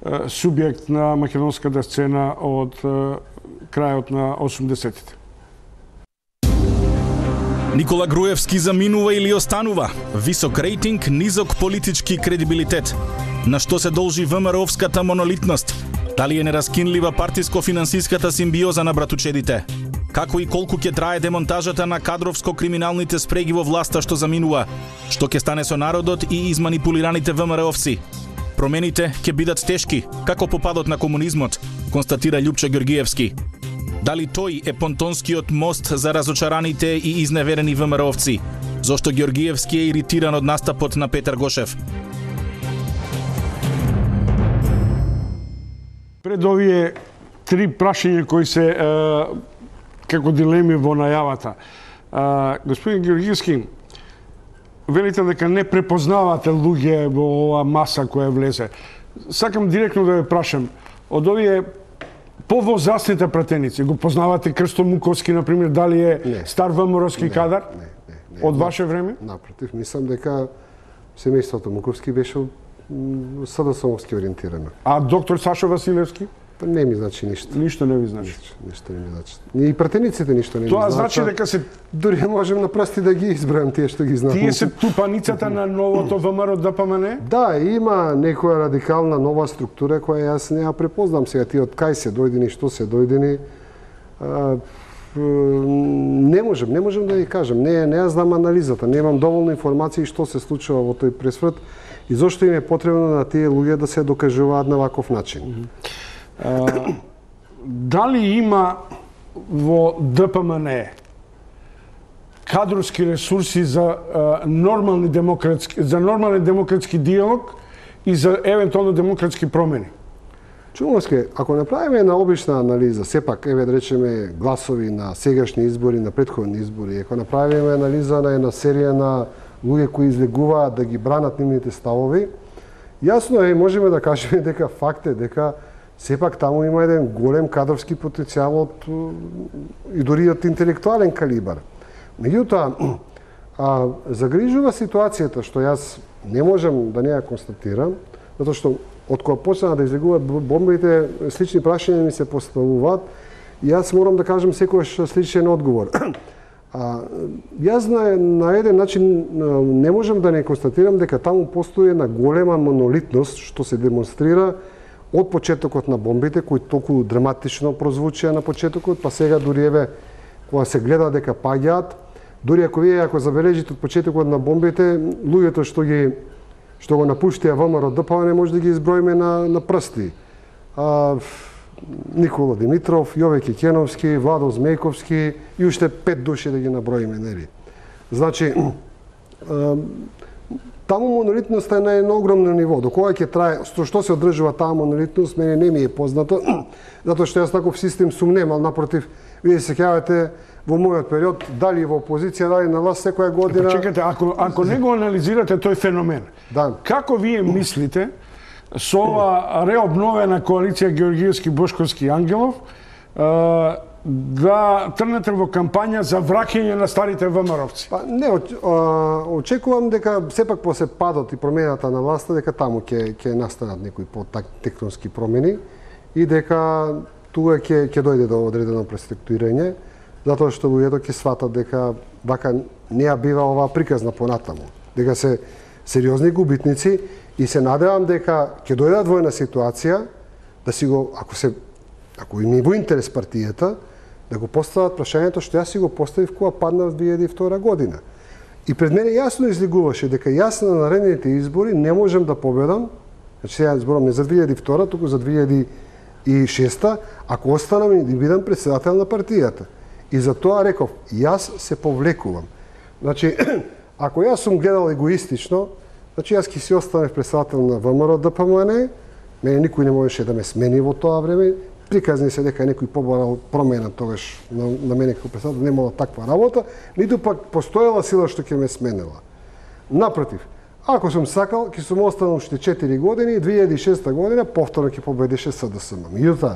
а, субјект на македонската сцена од а, крајот на осумдесетите. Никола Груевски заминува или останува? Висок рейтинг, низок политички кредибилитет. На што се должи ВМРО-овската монолитност? Дали е нераскинлива партиско-финансиската симбиоза на братучедите? Како и колку ќе трае демонтажата на кадровско-криминалните спреги во власта што заминува? Што ќе стане со народот и изманипулираните ВМРО-овци? Промените ќе бидат тешки, како попадот на комунизмот, констатира Љупче Георгиевски. Дали тој е понтонскиот мост за разочараните и изневерени ВМРО-овци? Зошто Георгиевски е иритиран од настапот на Петар Гошев? Пред овие три прашања кои се е, како дилеми во најавата. Е, господин Георгиевски, велите дека не препознавате луѓе во ова маса која влезе. Сакам директно да ве прашам, од овие По возрастните пратеници, го познавате Крсто Муковски, например, дали е не. стар ВМРовски кадар? Не, не, не. Од ваше време? Напротив, мислам дека семејството Муковски беше СДСМовски ориентирано. А доктор Сашо Василевски? Па не ми значи ништо. Ништо не ви значи. Ништо не ми значи. И пратениците ништо не ми Тоа значи. значи дека се дури можем на прсти да ги избројам тие што ги знаат. тие се тупаницата на новото ВМРО ДПМН? Да, има некоја радикална нова структура која јас не ја препознам сега тие од кај се дојдени, што се дојдени. А, не можем, не можем да ја кажам. Не, не ја знам анализата, немам доволно информации што се случува во тој пресврт и зошто им е потребно на тие луѓе да се докажуваат на ваков начин. А, дали има во ДПМН кадровски ресурси за а, нормални демократски за нормален демократски диалог и за евентуално демократски промени? Чумовски, ако направиме една обична анализа, сепак, еве да речеме гласови на сегашни избори, на претходни избори, ако направиме анализа на една серија на луѓе кои излегуваат да ги бранат нивните ставови, јасно е, можеме да кажеме дека факт е дека сепак таму има еден голем кадровски потенцијал од и дури од интелектуален калибар. Меѓутоа, а, загрижува ситуацијата што јас не можам да не ја констатирам, затоа што од кога почнаа да излегуваат бомбите, слични прашања ми се поставуваат и јас морам да кажам секојаш сличен одговор. А, јас на, на еден начин не можам да не констатирам дека таму постои една голема монолитност што се демонстрира од почетокот на бомбите, кои толку драматично прозвучија на почетокот, па сега дури еве кога се гледа дека паѓаат, дури ако вие ако забележите од почетокот на бомбите, луѓето што ги што го напуштија ВМРО ДПМН може да ги изброиме на на прсти. А, Никола Димитров, Јове Кекеновски, Владо Змејковски и уште пет души да ги наброиме, нели? Значи, а, таму монолитноста е на едно огромно ниво. До кога ќе трае, што, што се одржува таа монолитност, мене не ми е познато, затоа што јас таков систем сум немал, напротив, вие се сеќавате во мојот период, дали во опозиција, дали на власт секоја година. Па чекате, ако ако не го анализирате тој феномен, да. Како вие мислите со ова реобновена коалиција Георгиевски, Бошковски и Ангелов да трнете во кампања за враќање на старите ВМРО-вци? Па не, очекувам дека сепак после падот и промената на власта дека таму ќе ќе настанат некои по-тектонски промени и дека тука ќе ќе дојде до одредено преструктурирање, затоа што луѓето ќе сватат дека вака не ја бива оваа приказна понатаму, дека се сериозни губитници и се надевам дека ќе дојдат во една ситуација да си го, ако се ако им е во интерес партијата, да го постават прашањето што јас си го поставив кога падна во две илјади и втора година. И пред мене јасно излегуваше дека јас на наредните избори не можам да победам, значи сега зборам не за две илјади и втора, туку за две илјади и шеста, ако останам и да бидам претседател на партијата. И за тоа реков, јас се повлекувам. Значи, ако јас сум гледал егоистично, значи јас ќе си останев претседател на ВМРО ДПМН, мене никој не можеше да ме смени во тоа време, приказни се дека некој побарал промена тогаш на, на мене како председател, немала таква работа, ниту пак постоела сила што ќе ме сменила. Напротив, ако сум сакал, ќе сум останал уште четири години и две илјади и шеста година повторно ќе победише СДСМ. Меѓутоа,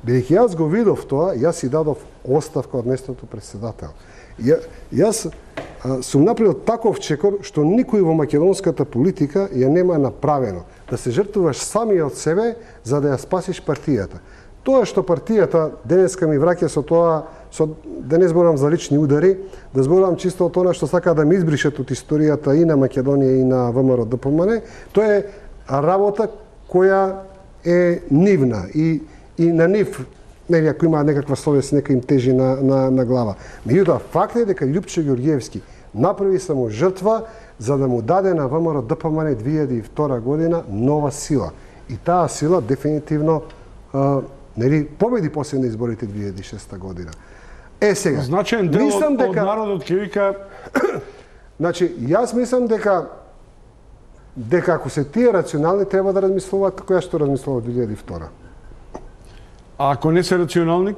бидејќи јас го видов тоа, јас си дадов оставка од местото председател. Ја, јас а, сум направил таков чекор што никој во македонската политика ја нема направено. Да се жртвуваш сами од себе за да ја спасиш партијата. Тоа што партијата денеска ми враќа со тоа, со, да не зборам за лични удари, да зборам чисто од тоа што сака да ме избришат од историјата и на Македонија и на ВМРО ДПМН, тоа е работа која е нивна и, и на нив, нели, ако има некаква совест, нека им тежи на, на, на глава. Меѓутоа, факт е дека Љупчо Ѓорѓиевски направи само жртва за да му даде на ВМРО ДПМН две илјади и втора година нова сила. И таа сила дефинитивно а, нели, победи после на изборите две илјади и шеста година. Е сега, значен дел мислам дека... дека од народот ќе вика значи, јас мислам дека дека ако се тие рационални треба да размислуваат како ја што размислува две илјади и втора. А ако не се рационални,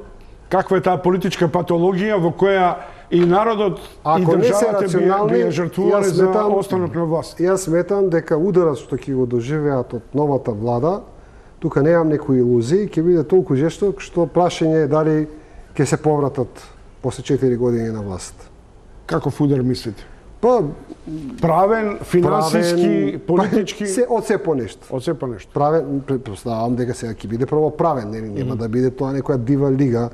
каква е таа политичка патологија во која и народот ако и државата би ја жртвувале за останок на власт? Јас сметам дека ударот што ќе го доживеат од новата влада тука немам некои илузии, ќе биде толку жесток што прашање е дали ќе се повратат после четири години на власт. Каков удар мислите? Па правен, финансиски, политички, се од се по нешто. Од се по нешто. Правен, претпоставам дека сега ќе биде прво правен, нели, нема mm -hmm. да биде тоа некоја дива лига.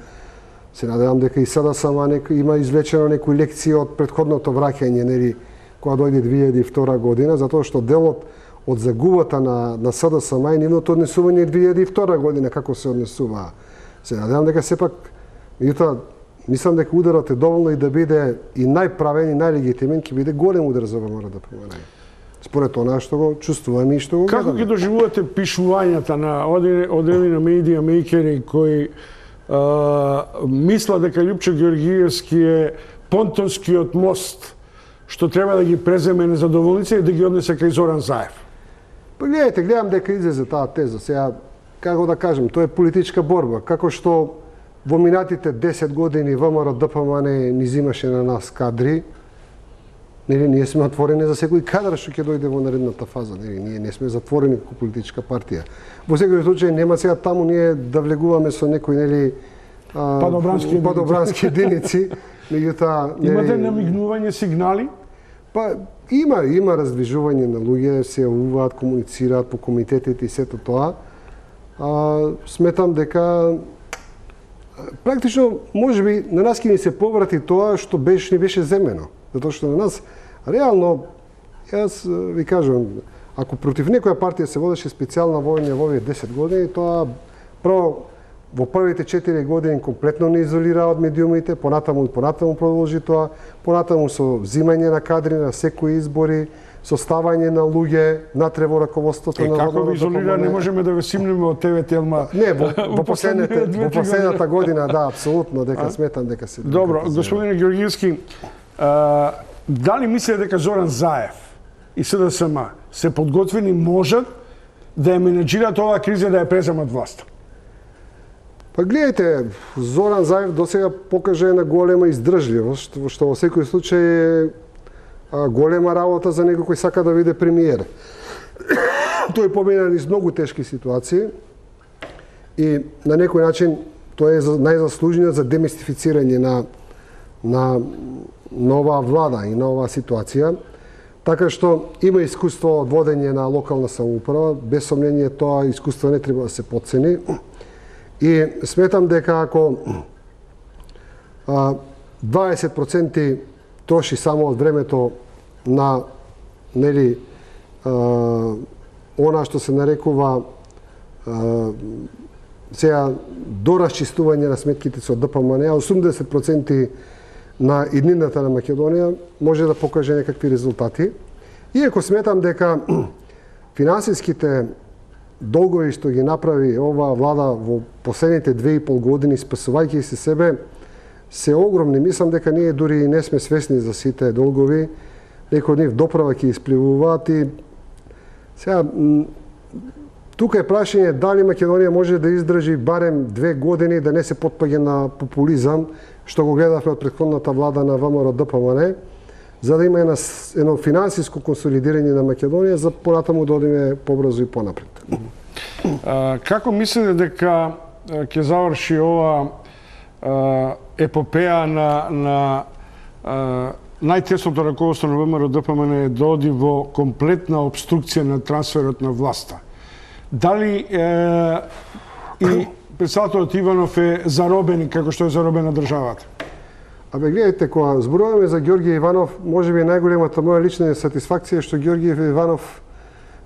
Се надевам дека и сега сама некој има извлечено некои лекции од претходното враќање, нели, кога дојде две илјади и втора година, затоа што делот од загубата на на СДСМ и нивното однесување две илјади и втора година како се однесува. Се надевам дека сепак меѓутоа мислам дека ударот е доволно и да биде и најправен и најлегитимен, ќе биде голем удар за ВМРО да помине. Според она што го чувствуваме и што го гледаме. Како ги доживувате пишувањата на одредени на медија мејкери кои а, мисла дека Љупчо Ѓоргиевски е понтонскиот мост што треба да ги преземе незадоволници и да ги однесе кај Зоран Заев? Па гледайте, гледам дека излезе таа теза. Сега, како да кажем, тоа е политичка борба. Како што во минатите десет години ВМРО ДПМН ни зимаше на нас кадри, нели, ние сме отворени за секој кадар што ќе дојде во наредната фаза. Нели, ние не сме затворени како политичка партија. Во секој случај нема сега таму ние да влегуваме со некои, нели, падобрански, падобрански единици. Меѓутоа, имате намигнување, сигнали? Па има, има раздвижување на луѓе, се јавуваат, комуницираат по комитетите и сето тоа. А, сметам дека практично можеби на нас ќе ни се поврати тоа што беше ни беше земено. Затоа што на нас реално, јас ви кажувам, ако против некоја партија се водеше специјална војна во овие десет години, тоа прво во првите четири години комплетно не изолира од медиумите, понатаму и понатаму продолжи тоа, понатаму со взимање на кадри на секои избори, со ставање на луѓе натре во раководството е, на како ви изолира, не можеме да го симнеме од тебе Телма. Не, во, во последните во последната година, да, апсолутно, дека а? Сметам дека се. Добро, господине Ѓоргиевски, а, дали мислите дека Зоран Заев и СДСМ се подготвени можат да ја менеджираат оваа криза да ја преземат власта? Па гледайте, Зоран Заев досега покажа една голема издржливост, што во секој случај е голема работа за некој кој сака да биде премиер. Тој помина низ многу тешки ситуации и на некој начин тој е најзаслужниот за демистифицирање на на нова влада и на оваа ситуација. Така што има искуство од водење на локална самоуправа, без сомнение тоа искуство не треба да се потцени. И сметам дека ако дваесет проценти троши само од времето на, нели, она што се нарекува сега доразчистување на сметките со ДПМН, а осумдесет проценти на иднината на Македонија може да покаже некакви резултати. Иако сметам дека финансиските долгови што ги направи оваа влада во последните две и пол години, спасувајќи се себе, се огромни. Мислам дека ние дури и не сме свесни за сите долгови. Некои од нив доправа ќе испливуваат и сега тука е прашање дали Македонија може да издржи барем две години да не се потпаѓа на популизам, што го гледавме од претходната влада на ВМРО ДПМН, за да има едно финансиско консолидирање на Македонија за понатаму да одиме побрзо и понапред. А, како мислите дека ќе заврши ова а, епопеја на, на а, најтесното раководство на ВМРО ДПМН да оди во комплетна обструкција на трансферот на власта? Дали е, и председателот Иванов е заробен како што е заробена државата? Абе, гледайте, кога зборуваме за Ѓорѓе Иванов, можеби најголемата моја лична сатисфакција е што Ѓорѓе Иванов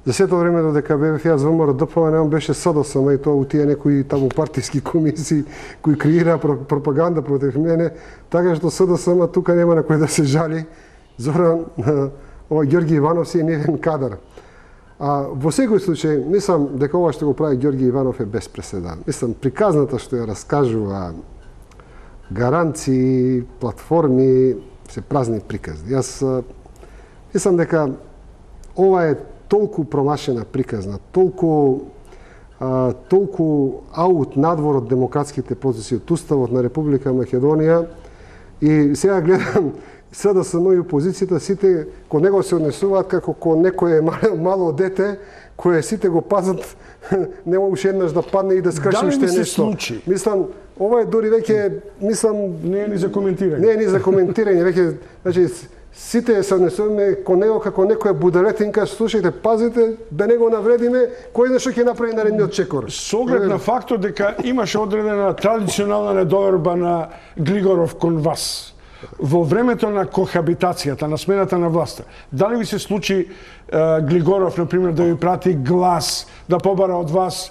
за сето време додека бев јас ВМРО ДПМН, он беше СДСМ и тоа у тие некои таму партиски комисии кои креира пропаганда против мене, така што СДСМ тука нема на кој да се жали. Зоран, ова Ѓорѓе Иванов си е нивен кадар. А во секој случај, мислам дека ова што го прави Ѓорѓе Иванов е без преседан. Мислам, приказната што ја раскажува, гаранции, платформи, се празни приказни. Јас мислам дека ова е толку промашена приказна, толку а, толку аут надвор од демократските процеси, од уставот на Република Македонија. И сега гледам СДСМ и опозицијата сите кон него се однесуваат како кон некое мало, мало дете кое сите го пазат, нема уште еднаш да падне и да скрши уште нешто. Случи? Мислам, ова е дури веќе, мислам, не е ни за коментирање. Не е ни за коментирање, веќе, значи сите се однесуваме кон него како некоја буделетинка, слушајте, пазите да не го навредиме, кој знае што ќе направи наредниот чекор. Со оглед на фактот дека имаше одредена традиционална недоверба на Глигоров кон вас во времето на кохабитацијата, на смената на власта, дали ви се случи е, Глигоров, например, да ви прати глас, да побара од вас е,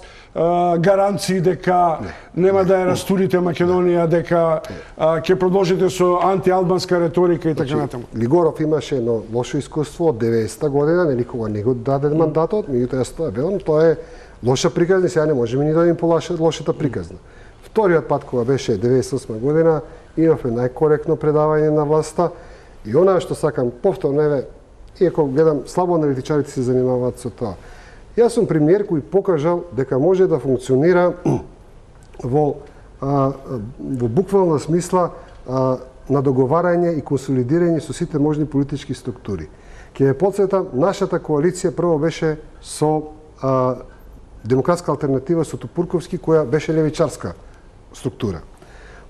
гаранции дека не, нема не, да ја растурите Македонија, дека ќе продолжите со антиалбанска реторика и така натаму? Глигоров имаше едно лошо искуство од деветдесета година, нели кога не го даде мандатот, меѓутоа јас тоа велам, тоа е лоша приказна, сега не можеме ни да им полаша лошата приказна. Вториот пат кога беше деветдесет и осма година, имавме најкоректно предавање на власта и она што сакам повторно, еве, иако гледам слабо аналитичарите се занимаваат со тоа. Јас сум премиер кој покажал дека може да функционира во, а, во буквална смисла а, на договарање и консолидирање со сите можни политички структури. Ќе ве потсетам, нашата коалиција прво беше со а, Демократска алтернатива со Тупурковски, која беше левичарска структура.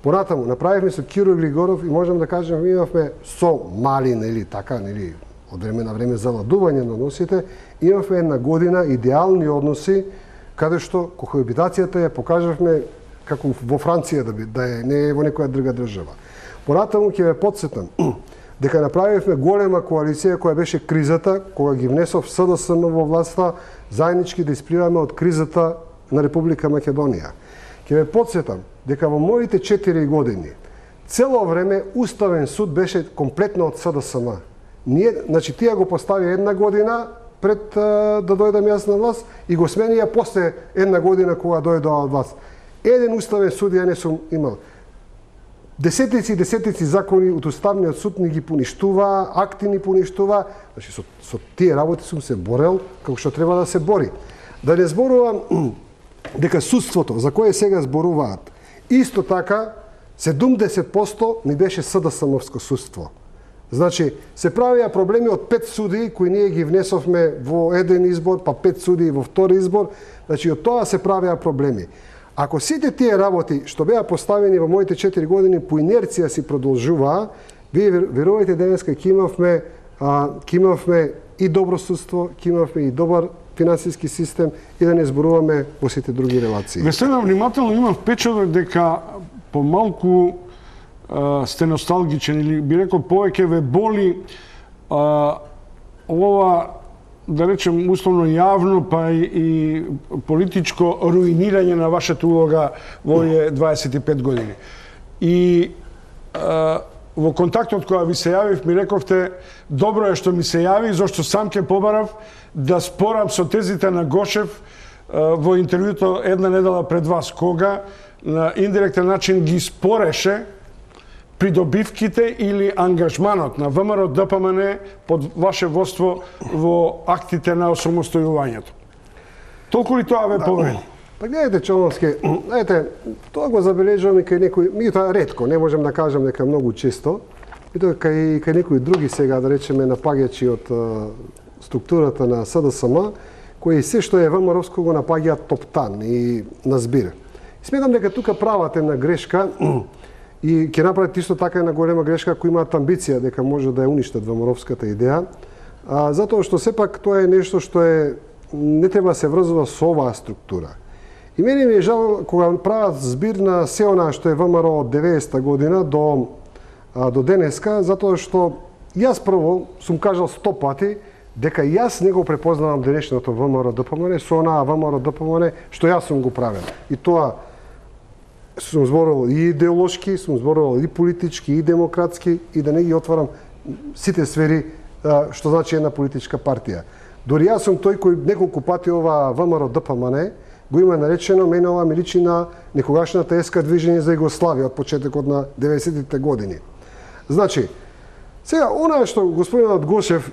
Понатаму направивме со Киро Глигоров и можам да кажем имавме со мали, нели така, нели од време на време заладување на односите, имавме една година идеални односи каде што кохабитацијата ја покажавме како во Франција да би, да е не е во некоја друга држава. Понатаму ќе ве потсетам дека направивме голема коалиција која беше кризата, кога ги внесов СДСМ во власта, заеднички да испливаме од кризата на Република Македонија. Ќе ве потсетам дека во моите четири години цело време Уставен суд беше комплетно од СДСМ. Ние, значи, тие го постави една година пред а, да дојдам јас на власт и го смени ја после една година кога дојдоа од власт. Еден Уставен суд ја не сум имал. Десетици и десетици закони од Уставниот суд ни ги поништува, акти ни поништува. Значи, со, со тие работи сум се борел како што треба да се бори. Да не зборувам дека судството, за кое сега зборуваат, исто така, седумдесет проценти ни беше СДСМовско судство. Значи, се правија проблеми од пет суди кои ние ги внесовме во еден избор, па пет суди во втори избор. Значи, од тоа се правија проблеми. Ако сите тие работи што беа поставени во моите четири години по инерција си продолжуваа, вие верувајте денеска ќе имавме, ќе имавме и добро судство, ќе имавме и добар финансиски систем и да не зборуваме во сите други релации. Ве следам внимателно, имам впечаток дека помалку а, сте носталгичен или би рекол повеќе ве боли а, ова, да речем условно јавно, па и, и политичко руинирање на вашата улога во овие дваесет и пет години. И а, во контактот која ви се јавив ми рековте добро е што ми се јави, зашто сам ќе побарав да спорам со тезите на Гошев во интервјуто една недела пред вас, кога на индиректен начин ги спореше придобивките или ангажманот на ВМРО Д П М Н под ваше водство во актите на осамостојувањето. Толку ли тоа ве повреди? Па гледате, Човновски, знаете, тоа го забележувам и кај некои, меѓутоа ретко, не можем да кажам дека многу често, и тоа кај, кај некои други сега, да речеме, напаѓачи од структурата на СДСМ, кои се што е ВМРО-ско го напаѓаат топтан и на збир. Сметам дека тука прават една грешка и ќе направат исто така една голема грешка кои имаат амбиција дека може да ја уништат ВМРО-ската идеја, а, затоа што сепак тоа е нешто што е не треба да се врзува со оваа структура. И мене ми е жал кога прават збир на се она што е ВМРО од деветдесета година до а, до денеска, затоа што јас прво сум кажал сто пати дека јас не го препознавам денешното ВМРО Д П М Н со онаа ВМРО Д П М Н што јас сум го правил. И тоа сум зборувал и идеолошки, сум зборувал и политички, и демократски, и да не ги отварам сите сфери што значи една политичка партија. Дори јас сум тој кој неколку пати ова ВМРО Д П М Н го има наречено, мене ова ми личи на некогашната ес К движење за Југославија од почетокот на деветдесетите години. Значи, сега, она што господинот Гошев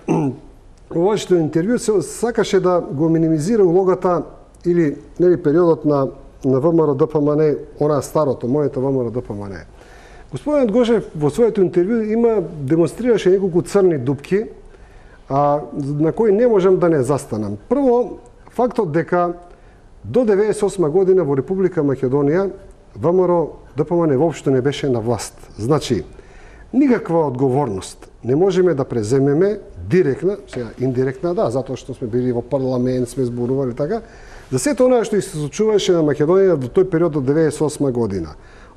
во вашето интервју се сакаше да го минимизира улогата или нели периодот на на ВМРО Д П М Н, она старото, моето ВМРО Д П М Н. Господинот Гошев во своето интервју има демонстрираше неколку црни дупки, а, на кои не можам да не застанам. Прво, фактот дека до деветдесет и осма година во Република Македонија ВМРО ДПМН воопшто не беше на власт. Значи, никаква одговорност не можеме да преземеме директна, сега индиректна, да, затоа што сме били во парламент, сме зборували така, за сето она што се случуваше на Македонија во тој период од деветдесет и осма година.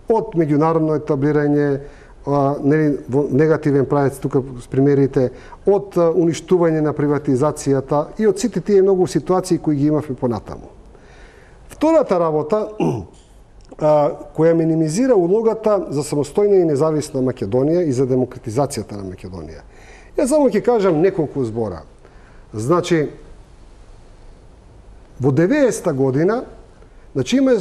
Од меѓународно етаблирање, а, нели, во негативен правец, тука с примерите, од а, уништување на приватизацијата и од сите тие многу ситуации кои ги имавме понатаму. Втората работа, а, која минимизира улогата за самостојна и независна Македонија и за демократизацијата на Македонија. Јас само ќе кажам неколку збора. Значи, во деветдесета година, значи има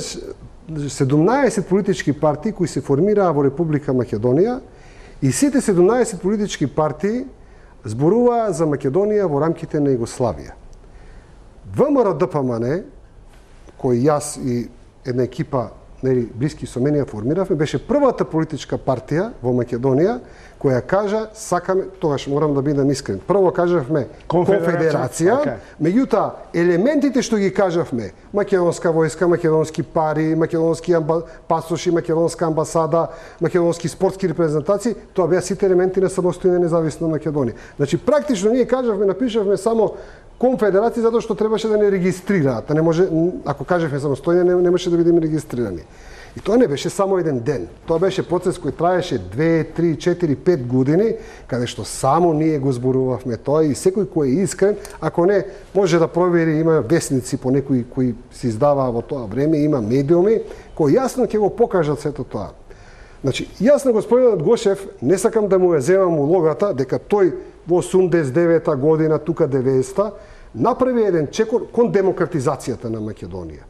седумнаесет политички партии кои се формираа во Република Македонија и сите седумнаесет политички партии зборуваа за Македонија во рамките на Југославија. ВМРО ДПМН, кој јас и една екипа нели, блиски со мене формиравме, беше првата политичка партија во Македонија која кажа сакаме, тогаш морам да бидам искрен. Прво кажавме конфедерација, okay. Меѓутоа елементите што ги кажавме, македонска војска, македонски пари, македонски амба... пасоши, македонска амбасада, македонски спортски репрезентации, тоа беа сите елементи на самостојна независна Македонија. Значи практично ние кажавме, напишавме само конфедерација затоа што требаше да не регистрираат, да не може, ако кажавме самостојна, не, немаше да бидеме регистрирани. И тоа не беше само еден ден. Тоа беше процес кој траеше две, три, четири, пет години, каде што само ние го зборувавме тоа и секој кој е искрен, ако не, може да провери, има весници по некои кои се издаваа во тоа време, има медиуми кои јасно ќе го покажат сето тоа. Значи, јас на господинот Гошев не сакам да му ја земам улогата дека тој во осумдесет и девета година, тука деветдесета, направи еден чекор кон демократизацијата на Македонија.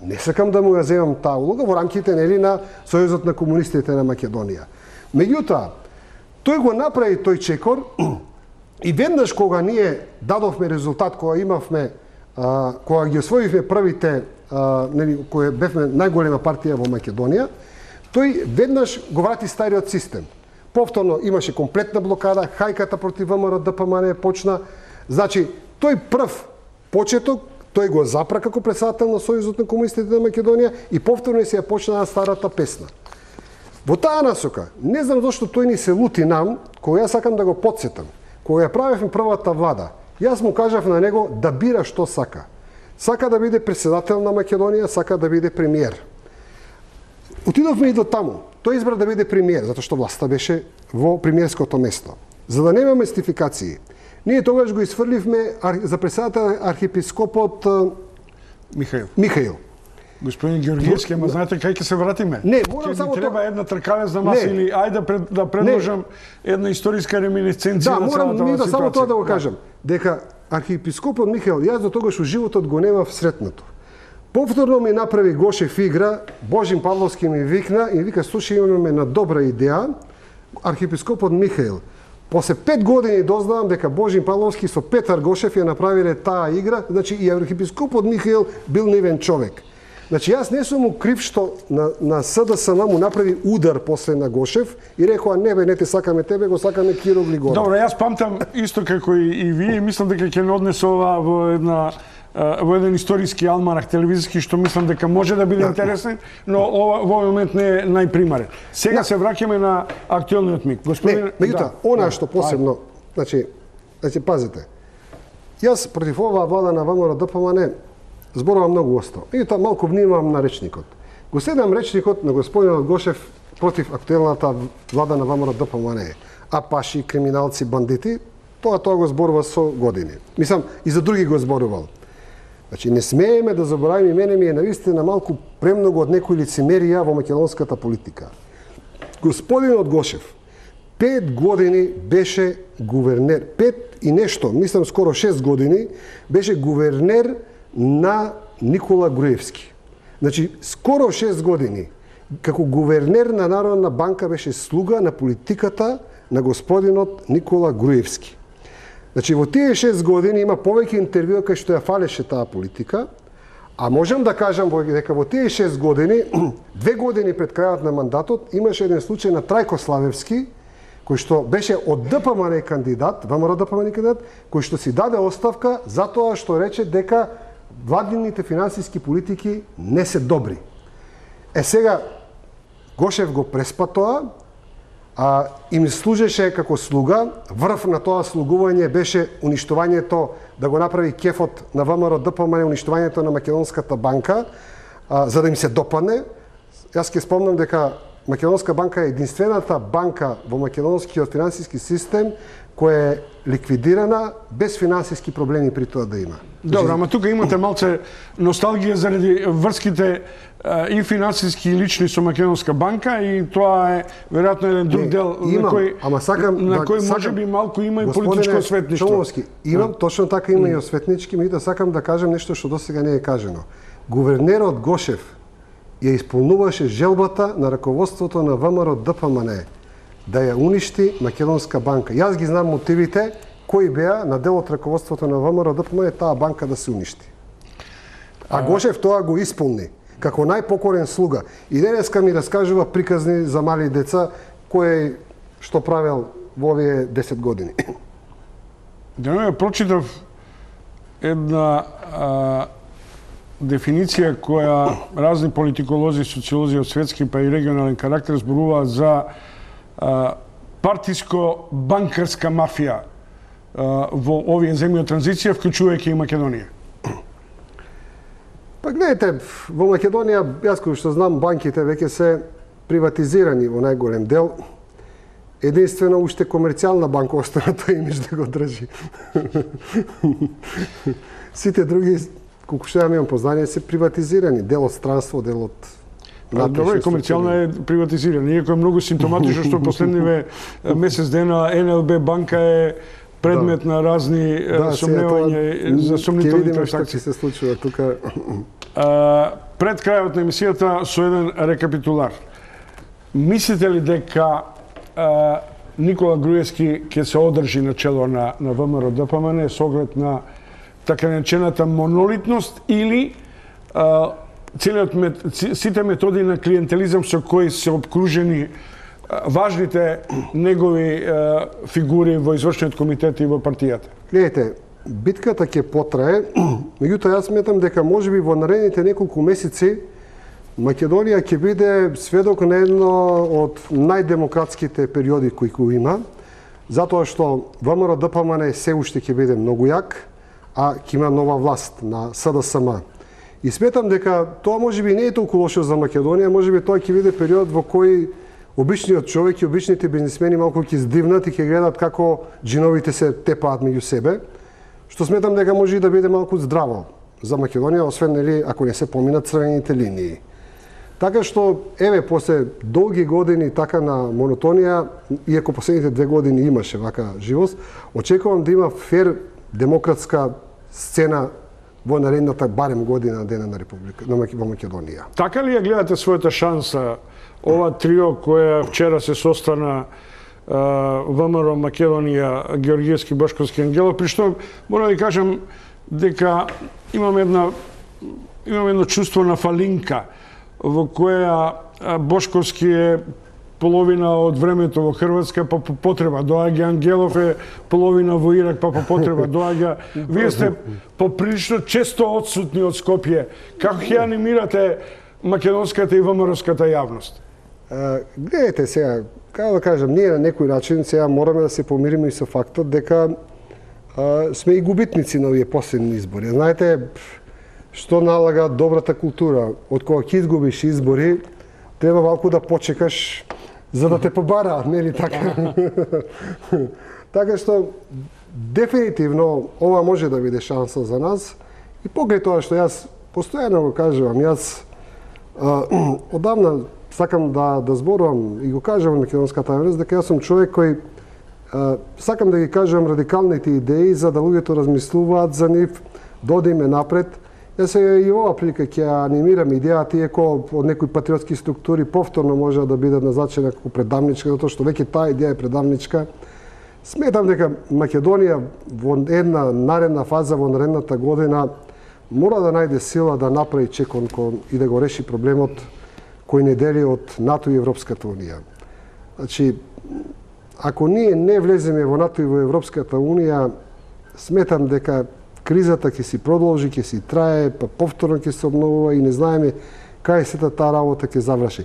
Не сакам да му ја земам таа улога во рамките нели на Сојузот на комунистите на Македонија. Меѓутоа, тој го направи тој чекор и веднаш кога ние дадовме резултат, кога имавме, а, кога ги освоивме првите, а, нели, кои бевме најголема партија во Македонија, тој веднаш го врати стариот систем. Повторно имаше комплетна блокада, хајката против ВМРО ДПМН почна. Значи, тој прв почеток тој го запра како председател на Сојузот на комунистите на Македонија и повторно се ја почна старата песна. Во таа насока, не знам зашто тој ни се лути нам, кога јас сакам да го потсетам. Кога ја правевме првата влада, јас му кажав на него да бира што сака. Сака да биде председател на Македонија, сака да биде премиер. Отидовме и до таму. Тој избра да биде премиер, затоа што власта беше во премиерското место. За да нема мистификации, ние тогаш го изфрливме за председател архиепископот Михаил. Михаил. Господин Георгиевски, ама знаете кај ќе се вратиме? Не, морам Ке само треба тоа... една тркалец на маса или ајде да, пред, да предложам не. една историска реминисценција да, на целата морам ситуација. Да, само тоа да го кажам. Дека архиепископот Михаил, јас до тогаш у животот го немав сретнато. Повторно ми направи Гошев игра, Божин Павловски ми викна и вика, слушај, имаме на добра идеја, архиепископот Михаил. После пет години дознавам дека Божин Павловски со Петар Гошев ја направиле таа игра, значи и архиепископот Михаил бил невен човек. Значи јас не сум му крив што на, на СДСМ му направи удар после на Гошев и рекоа не бе, не те сакаме тебе, го сакаме Киро Глигоров. Добро, јас памтам исто како и, и вие, мислам дека ќе не однесе ова во една во еден историски алманах телевизиски што мислам дека може да биде интересен, но ова во овој момент не е најпримарен. Сега се враќаме на актуелниот миг. Господин, не, меѓутоа, да, она што посебно, ајде. значи, значи пазите. Јас против оваа влада на ВМРО ДПМН зборувам многу осто. Меѓутоа малку внимавам на речникот. Го следам речникот на господинот Гошев против актуелната влада на ВМРО ДПМН. Апаши, криминалци, бандити, тоа тоа го зборува со години. Мислам и за други го зборувал. Значи, не смееме да заборавиме, мене ми е навистина малку премногу од некои лицемерија во македонската политика. Господинот Гошев пет години беше гувернер, пет и нешто, мислам скоро шест години, беше гувернер на Никола Груевски. Значи, скоро шест години, како гувернер на Народна банка беше слуга на политиката на господинот Никола Груевски. Значи, во тие шест години има повеќе интервјуа кај што ја фалеше таа политика, А можам да кажам дека во тие шест години, две години пред крајот на мандатот, имаше еден случај на Трајко Славевски, кој што беше од ДПМН кандидат, ВМРО ДПМН кандидат, кој што си даде оставка затоа што рече дека владините финансиски политики не се добри. Е сега, Гошев го преспа тоа, а им служеше како слуга. Врв на тоа слугување беше уништувањето, да го направи кефот на ВМРО ДПМН, уништувањето на Македонската банка, а, за да им се допадне. Јас ќе спомнам дека Македонска банка е единствената банка во македонскиот финансиски систем која е ликвидирана без финансиски проблеми при тоа да има. Добро, ама тука имате малце носталгија заради врските и финансиски и лични со Македонска банка и тоа е веројатно еден друг дел имам, на кој ама сакам, на да, кој сакам, можеби малку има и политичко осветништво. Чоловски, имам, точно така има и осветнички, меѓутоа сакам да кажам нешто што досега не е кажано. Гувернерот Гошев ја исполнуваше желбата на раководството на ВМРО ДПМН да ја уништи Македонска банка. Јас ги знам мотивите кои беа на дел од раководството на ВМРО ДПМН таа банка да се уништи. А Гошев тоа го исполни како најпокорен слуга. И денеска ми раскажува приказни за мали деца кој што правел во овие десет години. Денеска прочитав една а, дефиниција која разни политиколози, социолози од светски па и регионален карактер зборуваат за а, партиско-банкарска мафија а, во овие земји од транзиција, вклучувајќи и Македонија. Па гледайте, во Македонија, јас кој што знам, банките веќе се приватизирани во најголем дел. Единствено, уште комерцијална банка остана тој имидж да го држи. Сите други, колку што ја имам познание, се приватизирани. Дел од странство, дел од... Добро, и комерцијална е приватизирана. Иако е многу симптоматично што последниве месец дена Ен Ел Би банка е предмет да. на разни да, сомневања за сомнителни транзакции. Ќе се случува тука. Пред крајот на емисијата со еден рекапитулар. Мислите ли дека а, Никола Груевски ќе се одржи на чело на, на ВМРО ДПМН со оглед на така наречената монолитност или а, целиот мет, сите методи на клиентелизам со кои се обкружени важните негови е, фигури во извршниот комитет и во партијата? Гледайте, битката ќе потрае, меѓутоа јас сметам дека можеби во наредните неколку месеци Македонија ќе биде сведок на едно од најдемократските периоди кои го има, затоа што ВМРО ДПМН се уште ќе биде многу јак, а ќе има нова власт на С Д С М. И сметам дека тоа можеби не е толку лошо за Македонија, можеби тоа ќе биде период во кој обичниот човек и обичните бизнисмени малку ќе здивнат и ќе гледат како джиновите се тепаат меѓу себе, што сметам дека може и да биде малку здраво за Македонија, освен нели ако не се поминат црвените линии. Така што, еве, после долги години така на монотонија, иако последните две години имаше вака живост, очекувам да има фер демократска сцена во наредната барем година дена на Република на Македонија. Така ли ја гледате својата шанса ова трио која вчера се состана ВМРО Македонија, Георгиевски, Бошковски, Ангелов, при што мора да кажам дека имам една имам едно чувство на фалинка во која Бошковски е половина од времето во Хрватска, па по потреба доаѓа, Ангелов е половина во Ирак, па по потреба доаѓа. Вие сте поприлично често отсутни од Скопје. Како ќе анимирате македонската и ВМРО-ската јавност? Гледайте сега, како да кажам, ние на некој начин сега мораме да се помириме и со фактот дека а, сме и губитници на овие последни избори. Знаете, што налага добрата култура? Од кога ќе изгубиш избори, треба малку да почекаш за да те побараат, нели така? Така што дефинитивно ова може да биде шанса за нас и поглед тоа што јас постојано го кажувам, јас а, одавна сакам да да зборувам и го кажувам на македонската јавност дека јас сум човек кој а, сакам да ги кажувам радикалните идеи за да луѓето размислуваат за нив, да одиме напред. Јас и ова прилика ќе анимирам идејата, иако од некои патриотски структури повторно може да биде назначена како предавничка, затоа што веќе таа идеја е предавничка. Сметам дека Македонија во една наредна фаза, во наредната година, мора да најде сила да направи чекон и да го реши проблемот кој не дели од НАТО и Европската Унија. Значи, ако ние не влеземе во НАТО и во Европската Унија, сметам дека кризата ќе си продолжи, ќе си трае, па повторно ќе се обновува и не знаеме кај сета таа работа ќе заврши.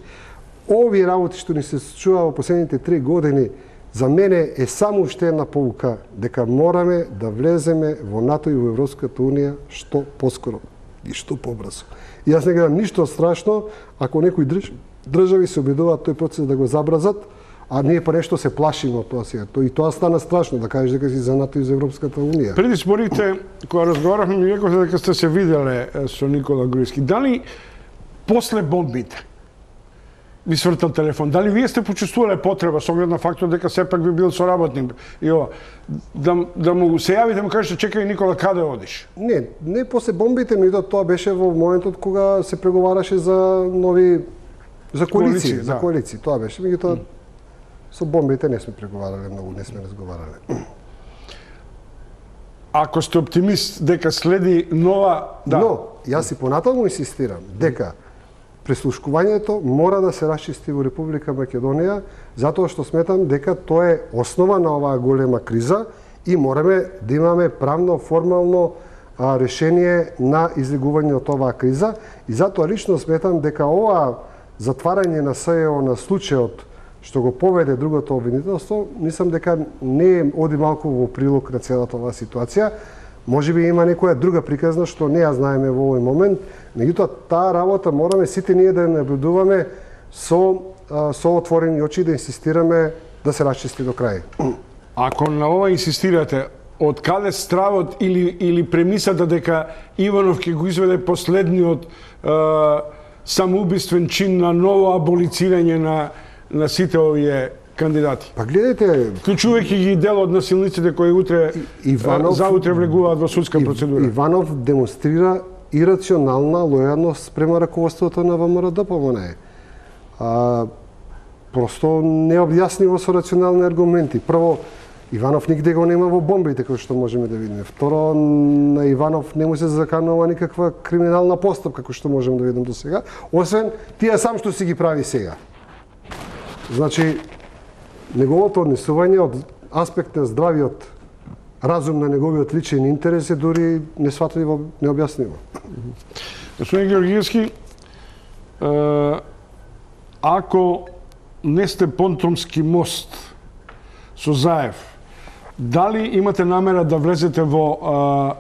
Овие работи што ни се случува во последните три години, за мене е само уште една поука дека мораме да влеземе во НАТО и во Европската Унија што поскоро и што побрзо. И јас не гледам ништо страшно ако некои држави се обидуваат тој процес да го забрзат, а ние па нешто се плашиме од тоа сега. И тоа стана страшно да кажеш дека си за НАТО и за Европската Унија. Преди зборите, кога разговаравме, ми рековте дека сте се виделе со Никола Груевски. Дали после бомбите ви свртал телефон? Дали вие сте почувствувале потреба, со оглед на фактот дека сепак ви бил соработник и ова, да, да му се јавите, да му кажете, чекај Никола, каде одиш? Не, не после бомбите, меѓутоа тоа беше во моментот кога се преговараше за нови за коалиции, коалиции за да. коалиции, тоа беше. Меѓутоа со бомбите не сме преговарале многу, не сме разговарале. Ако сте оптимист дека следи нова, да. Но јас и понатаму инсистирам дека прислушкувањето мора да се расчисти во Република Македонија, затоа што сметам дека тоа е основа на оваа голема криза и мораме да имаме правно, формално а, решение на излегување од оваа криза. И затоа лично сметам дека ова затварање на СЕО на случајот што го поведе другото обвинителство, мислам дека не оди малку во прилог на целата оваа ситуација. Може би има некоја друга приказна што не ја знаеме во овој момент, меѓутоа таа работа мораме сите ние да наблюдуваме со со отворени очи, да инсистираме да се расчисти до крај. Ако на ова инсистирате, од каде стравот или или премисата дека Иванов ќе го изведе последниот е, самоубиствен чин на ново аболицирање на на сите овие кандидати? Па гледайте, вклучувајќи ги дел од насилниците кои утре Иванов, заутре влегуваат во судска процедура. Иванов демонстрира ирационална лојалност према раководството на ВМРО-ДПМН. А просто не објаснива со рационални аргументи. Прво, Иванов нигде го нема во бомбите, кои што можеме да видиме. Второ, на Иванов не му се заканува никаква криминална постапка, кој што можеме да видиме до сега, освен тие сам што си ги прави сега. Значи, неговото однесување од аспект на здравиот разум на неговиот личен интерес е дури несватливо, необјаснимо. Господин Георгиевски, ако не сте Понтомски мост со Заев, дали имате намера да влезете во а,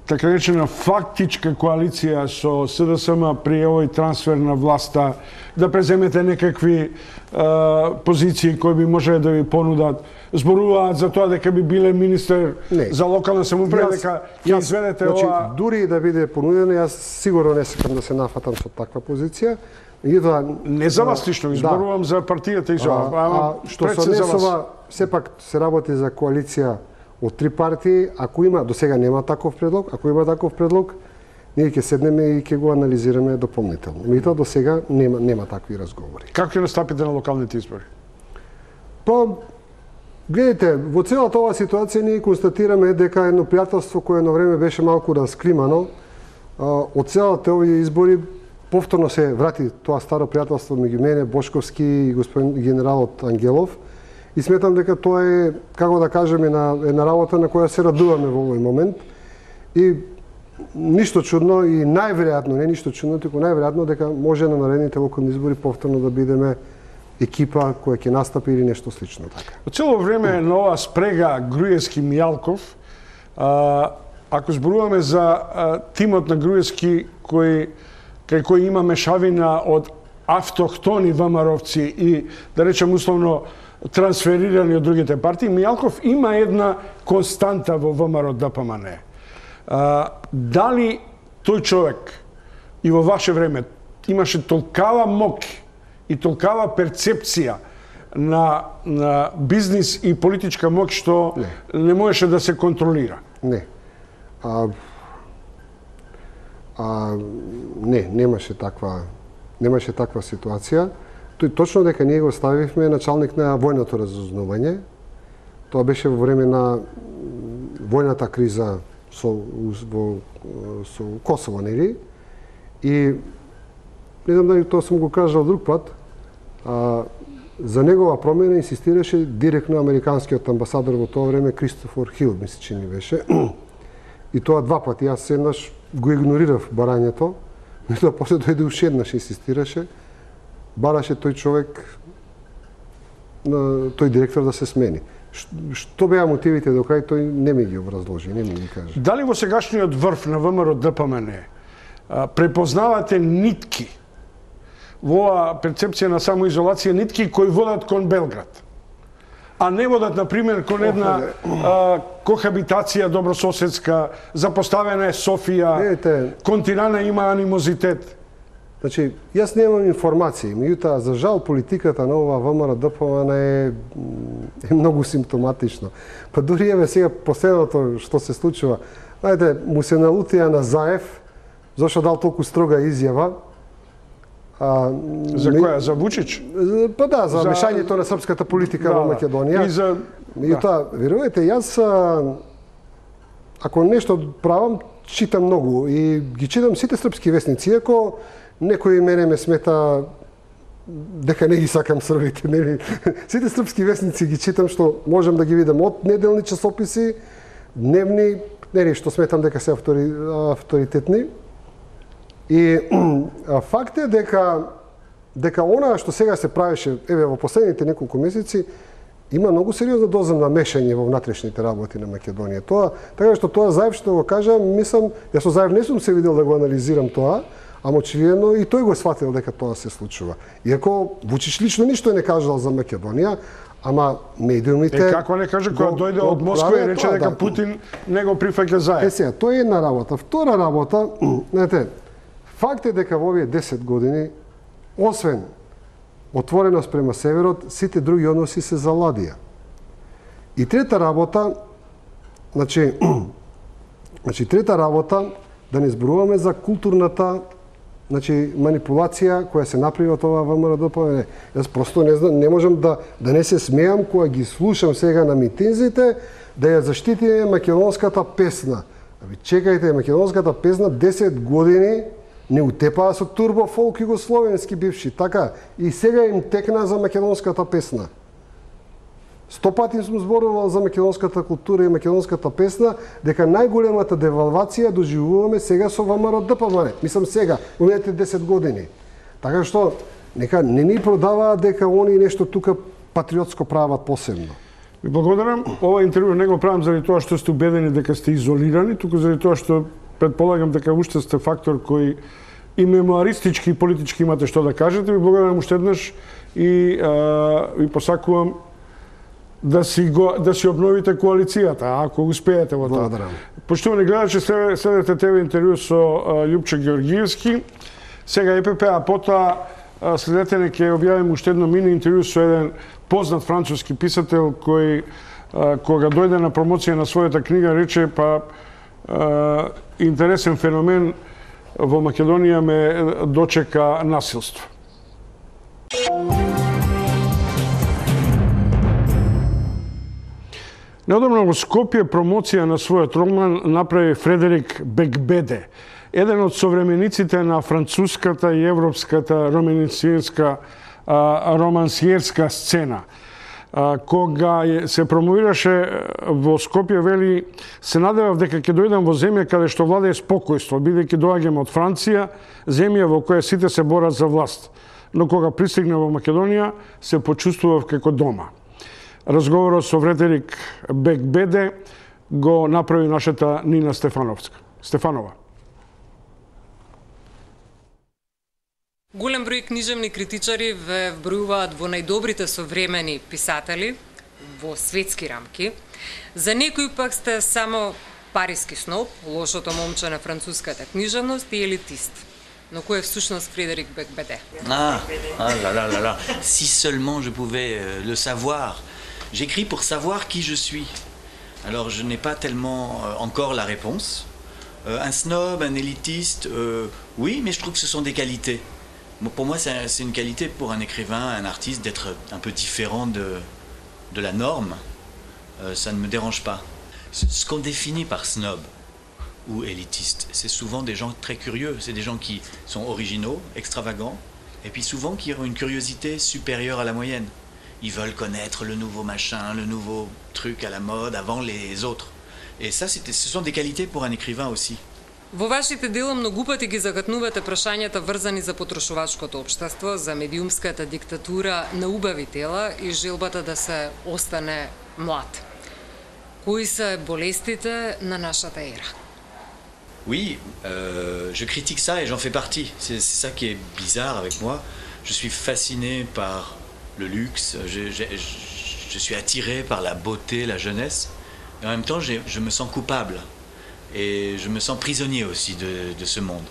така речена фактичка коалиција со СДСМ при овој трансфер на власта, да преземете некакви а, позиции кои би можеле да ви понудат? Зборуваат за тоа дека би биле министер не. За локална самоуправа, дека ќе изведете значи, ова... Дури да биде понудено, јас сигурно не сакам да се нафатам со таква позиција. И тоа, не за вас лично, изборувам да. За партијата и за а, а, што се однесува, сепак се работи за коалиција од три партии. Ако има, до сега нема таков предлог, ако има таков предлог, ние ќе седнеме и ќе го анализираме дополнително. Меѓутоа до сега нема нема такви разговори. Како ќе настапите на локалните избори? Па гледайте, во целата оваа ситуација ние констатираме дека едно пријателство кое едно време беше малку расклимано, од целата овие избори повторно се врати тоа старо пријателство меѓу мене, Бошковски и господин генералот Ангелов. И сметам дека тоа е, како да кажеме, една, една работа на која се радуваме во овој момент. И ништо чудно и најверојатно, не ништо чудно, туку најверојатно дека може на наредните локални избори повторно да бидеме екипа која ќе настапи или нешто слично така. Во цело време на оваа спрега Груевски-Мијалков, а, ако зборуваме за а, тимот на Груевски кој кај кој има мешавина од автохтони ВМРО-вци и, да речем условно, трансферирани од другите партии, Мијалков има една константа во ВМРО-ДПМН. Дали тој човек и во ваше време имаше толкава мок и толкава перцепција на, на бизнис и политичка мок што не, не можеше да се контролира? Не. А, а, не, немаше таква, немаше таква ситуација. Тој точно дека ние го ставивме началник на војното разузнавање. Тоа беше во време на војната криза со во со Косово, нели? И не знам дали тоа сум го кажал друг пат, а, за негова промена инсистираше директно американскиот амбасадор во тоа време Кристофер Хил, мисли че ни беше. И тоа два пати. Јас еднаш го игнорирав барањето, меѓутоа после дојде уште еднаш инсистираше, бараше тој човек, тој директор да се смени. Што беа мотивите до крај, тој не ми ги образложи, не ми ги каже. Дали во сегашниот врв на ВМРО Д П М Н препознавате нитки во оваа перцепција на самоизолација, нитки кои водат кон Белград, а не водат, например, кон една а, кохабитација добрососедска, запоставена е Софија, Видите, кон Тирана има анимозитет? Значи, јас немам информации, меѓутоа, за жал, политиката на ова ВМРО Д П М Н е, е многу симптоматично. Па дури еве сега последното што се случува, знаете, му се налутија на Заев, зашто дал толку строга изјава. А, За која? За Вучич? Па да, за, За- мешањето на српската политика Да, во да. Македонија. И за... Меѓутоа, верувате, јас а, ако нешто правам, читам многу и ги читам сите српски весници, иако некој мене ме смета дека не ги сакам србите, нели? Сите српски весници ги читам, што можам да ги видам од неделни часописи, дневни, нели, што сметам дека се автори, авторитетни. И а, факт е дека дека она што сега се правеше, еве во последните неколку месеци, има многу сериозна доза на мешање во внатрешните работи на Македонија. Тоа, така што тоа Заев што го кажа, мислам, јас со Заев не сум се видел да го анализирам тоа, ама очигледно и тој го сватил дека тоа се случува. Иако Вучич лично ништо не кажал за Македонија, ама медиумите... Е, како не каже, кога дојде од Москва и рече дека Путин не го прифаќа Е, Заев. сега, тоа е една работа. Втора работа, знаете, факт е дека во овие десет години, освен отвореност према северот, сите други односи се заладија. И трета работа, значи, значи трета работа, да не зборуваме за културната, значи, манипулација која се направи од ова ВМРО Д П М Н. Јас просто не знам, не можам да да не се смеам кога ги слушам сега на митинзите да ја заштитиме македонската песна. Аби чекајте, македонската песна десет години не утепаа со турбо фолк југословенски бивши, така и сега им текна за македонската песна. Сто пати сум зборувал за македонската култура и македонската песна, дека најголемата девалвација доживуваме сега со ВМРО Д П М Н. Мислам сега, во минатите десет години. Така што нека не ни продаваат дека они нешто тука патриотско прават посебно. Ви благодарам. Ова интервју не го правам заради тоа што сте убедени дека сте изолирани, туку заради тоа што предполагам дека уште сте фактор кој и мемуаристички и политички имате што да кажете. Ви благодарам уште еднаш и а, ви посакувам да си го да си обновите коалицијата, ако успеете во тоа. Благодарам. Поштовани гледачи, следете ТВ интервју со а, Љупче Георгиевски. Сега Е П П, а потоа а, следете не ќе објавим уште едно мини интервју со еден познат француски писател кој а, кога дојде на промоција на својата книга рече па а, интересен феномен во Македонија ме дочека насилство. Неодамно во Скопје промоција на својот роман направи Фредерик Бекбеде, еден од современиците на француската и европската романсиерска романсиерска сцена. Кога се промовираше во Скопје, вели, се надевав дека ќе дојдам во земја каде што владее спокојство, бидејќи доаѓам од Франција, земја во која сите се борат за власт. Но кога пристигнав во Македонија, се почувствував како дома. Разговорот со Фредерик Бекбеде го направи нашата Нина Стефановска. Стефанова. Голем број книжевни критичари ве вбројуваат во најдобрите современи писатели во светски рамки. За некои пак сте само париски сноб, лошото момче на француската книжевност и елитист. Но кој е всушност Фредерик Бекбеде? Ah, ah là là là là. Si seulement je pouvais euh, le savoir. J'écris pour savoir qui je suis. Alors je n'ai pas tellement euh, encore la réponse. Euh, un snob, un élitiste, euh, oui, mais je trouve que ce sont des qualités. Bon, pour moi, c'est c'est une qualité pour un écrivain, un artiste, d'être un peu différent de, de la norme. Euh, ça ne me dérange pas. Ce, ce qu'on définit par snob, ou élitistes. C'est souvent des gens très curieux, c'est des gens qui sont originaux, extravagants, et puis souvent qui ont une curiosité supérieure à la moyenne. Ils veulent connaître le nouveau machin, le nouveau truc à la mode avant les autres. Et ça, ce sont des qualités pour un écrivain aussi. Во вашите дела многу пати ги загатнувате прашањата врзани за потрошувачкото општество, за медиумската диктатура на убави тела и желбата да се остане млад. Кои се болестите на нашата ера? Oui, euh, je critique ça et j'en fais partie. C'est ça qui est bizarre avec moi. Je suis fasciné par le luxe, je, je, je suis attiré par la beauté, la jeunesse. Et en même temps, je me sens coupable. Et je me sens prisonnier aussi de, de ce monde.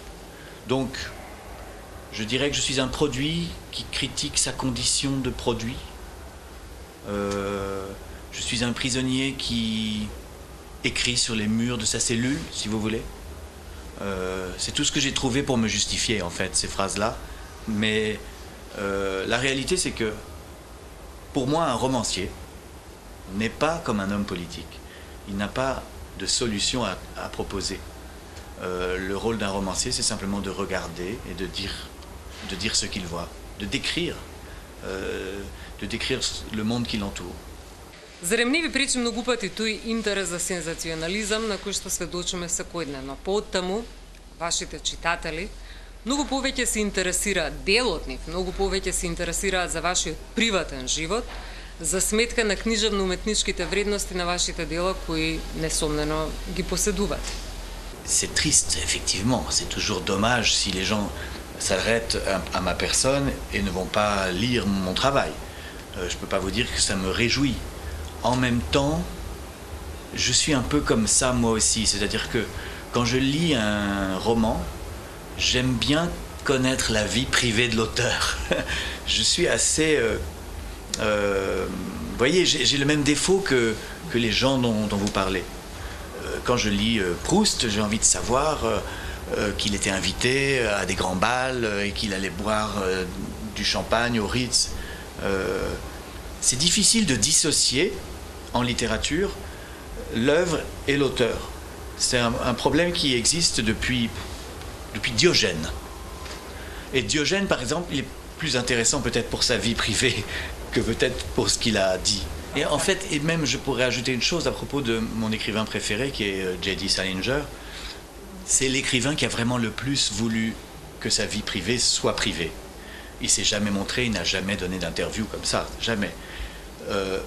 Donc, je dirais que je suis un produit qui critique sa condition de produit. Euh, je suis un prisonnier qui écrit sur les murs de sa cellule, si vous voulez. Euh, c'est tout ce que j'ai trouvé pour me justifier, en fait, ces phrases-là. Mais euh, la réalité, c'est que, pour moi, un romancier n'est pas comme un homme politique. Il n'a pas de solution à, à proposer. Euh, le rôle d'un romancier, c'est simplement de regarder et de dire, de dire ce qu'il voit, de décrire, euh, de décrire le monde qui l'entoure. Зарем не ви пречи многу пати тој интерес за сензационализам на кој што сведочиме секојдневно. Поттаму, вашите читатели многу повеќе се интересираат, дел од нив многу повеќе се интересираат за вашиот приватен живот, за сметка на книжевно-уметничките вредности на вашите дела кои несомнено ги поседувате. C'est triste, effectivement. C'est toujours dommage si les gens s'arrêtent à ma personne et ne vont pas lire mon travail. Euh, je ne peux pas vous dire que ça me réjouit. En même temps, je suis un peu comme ça moi aussi. C'est-à-dire que quand je lis un roman, j'aime bien connaître la vie privée de l'auteur. Je suis assez... Euh, Euh, vous voyez, j'ai le même défaut que, que les gens dont, dont vous parlez. Euh, quand je lis euh, Proust, j'ai envie de savoir euh, euh, qu'il était invité à des grands bals euh, et qu'il allait boire euh, du champagne au Ritz. Euh, c'est difficile de dissocier en littérature l'œuvre et l'auteur. C'est un, un problème qui existe depuis, depuis Diogène. Et Diogène, par exemple, il est plus intéressant peut-être pour sa vie privée que peut-être pour ce qu'il a dit. Et en fait, et même je pourrais ajouter une chose à propos de mon écrivain préféré, qui est J D Salinger. C'est l'écrivain qui a vraiment le plus voulu que sa vie privée soit privée. Il s'est jamais montré, il n'a jamais donné d'interview comme ça, jamais. Euh,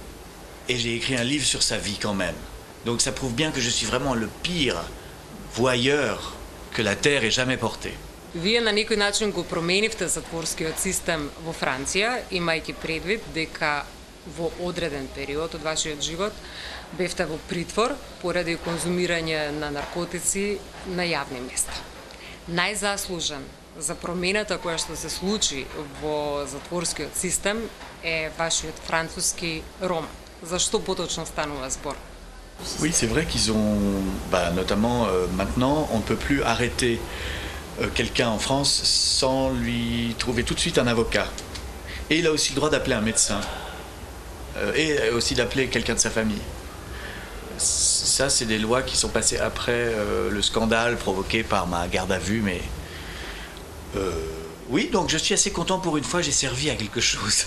et j'ai écrit un livre sur sa vie quand même. Donc ça prouve bien que je suis vraiment le pire voyeur que la Terre ait jamais porté. Вие на некој начин го променивте затворскиот систем во Франција, имајќи предвид дека во одреден период од вашиот живот бевте во притвор поради конзумирање на наркотици на јавни места. Најзаслужен за промената која што се случи во затворскиот систем е вашиот француски роман. Зашто поточно станува збор? Oui, c'est vrai qu'ils ont, bah, notamment euh, maintenant, on ne peut plus arrêter euh, quelqu'un en France sans lui trouver tout de suite un avocat. Et il a aussi le droit d'appeler un médecin. Euh, et aussi d'appeler quelqu'un de sa famille. Ça, c'est des lois qui sont passées après euh, le scandale provoqué par ma garde à vue, mais... Euh, oui, donc je suis assez content pour une fois, j'ai servi à quelque chose.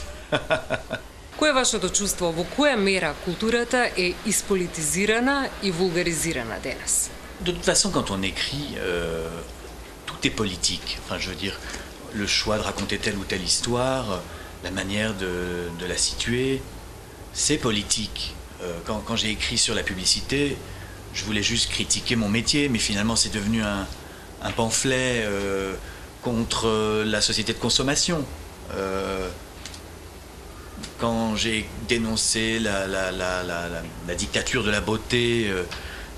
Кое е вашето чувство? Во која мера културата е изполитизирана и вулгаризирана денес? De toute façon, quand on écrit, euh, tout est politique. Enfin, je veux dire, le choix de raconter telle ou telle histoire, la manière de, de la situer, c'est politique. Euh, quand quand j'ai écrit sur la publicité, je voulais juste critiquer mon métier, mais finalement, c'est devenu un, un pamphlet euh, contre la société de consommation. Euh, Quand j'ai dénoncé la, la, la, la, la, la dictature de la beauté euh,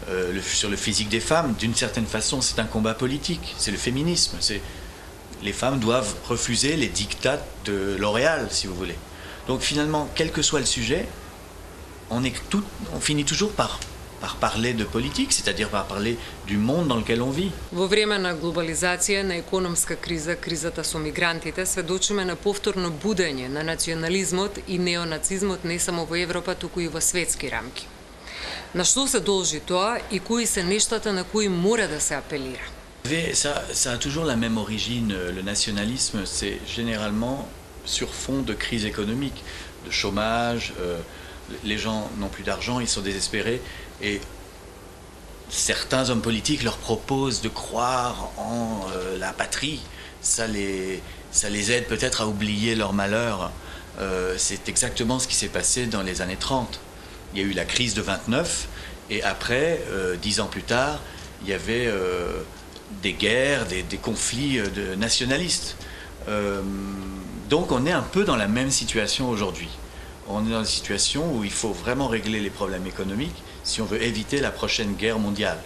euh, le, sur le physique des femmes, d'une certaine façon, c'est un combat politique. C'est le féminisme. Les femmes doivent refuser les dictats de L'Oréal, si vous voulez. Donc finalement, quel que soit le sujet, on, est tout, on finit toujours par, par parler de politique, c'est-à-dire par parler du monde dans lequel on vit. Во време на глобализација, на економска криза, кризата со мигрантите, сведочиме на повторно будење на национализмот и неонацизмот не само во Европа, туку и во светски рамки. На што се должи тоа и кои се нештата на кои мора да се апелира? Ça, ça a toujours la même origine. Le nationalisme, c'est généralement sur fond de crise économique, de chômage. Euh, les gens n'ont plus d'argent, ils sont désespérés. Et certains hommes politiques leur proposent de croire en euh, la patrie. Ça les, ça les aide peut-être à oublier leur malheur. Euh, c'est exactement ce qui s'est passé dans les années trente. Il y a eu la crise de vingt-neuf, et après, euh, dix ans plus tard, il y avait euh, des guerres, des, des conflits de nationalistes. Euh, donc on est un peu dans la même situation aujourd'hui. On est dans une situation où il faut vraiment régler les problèmes économiques si on veut éviter la prochaine guerre mondiale.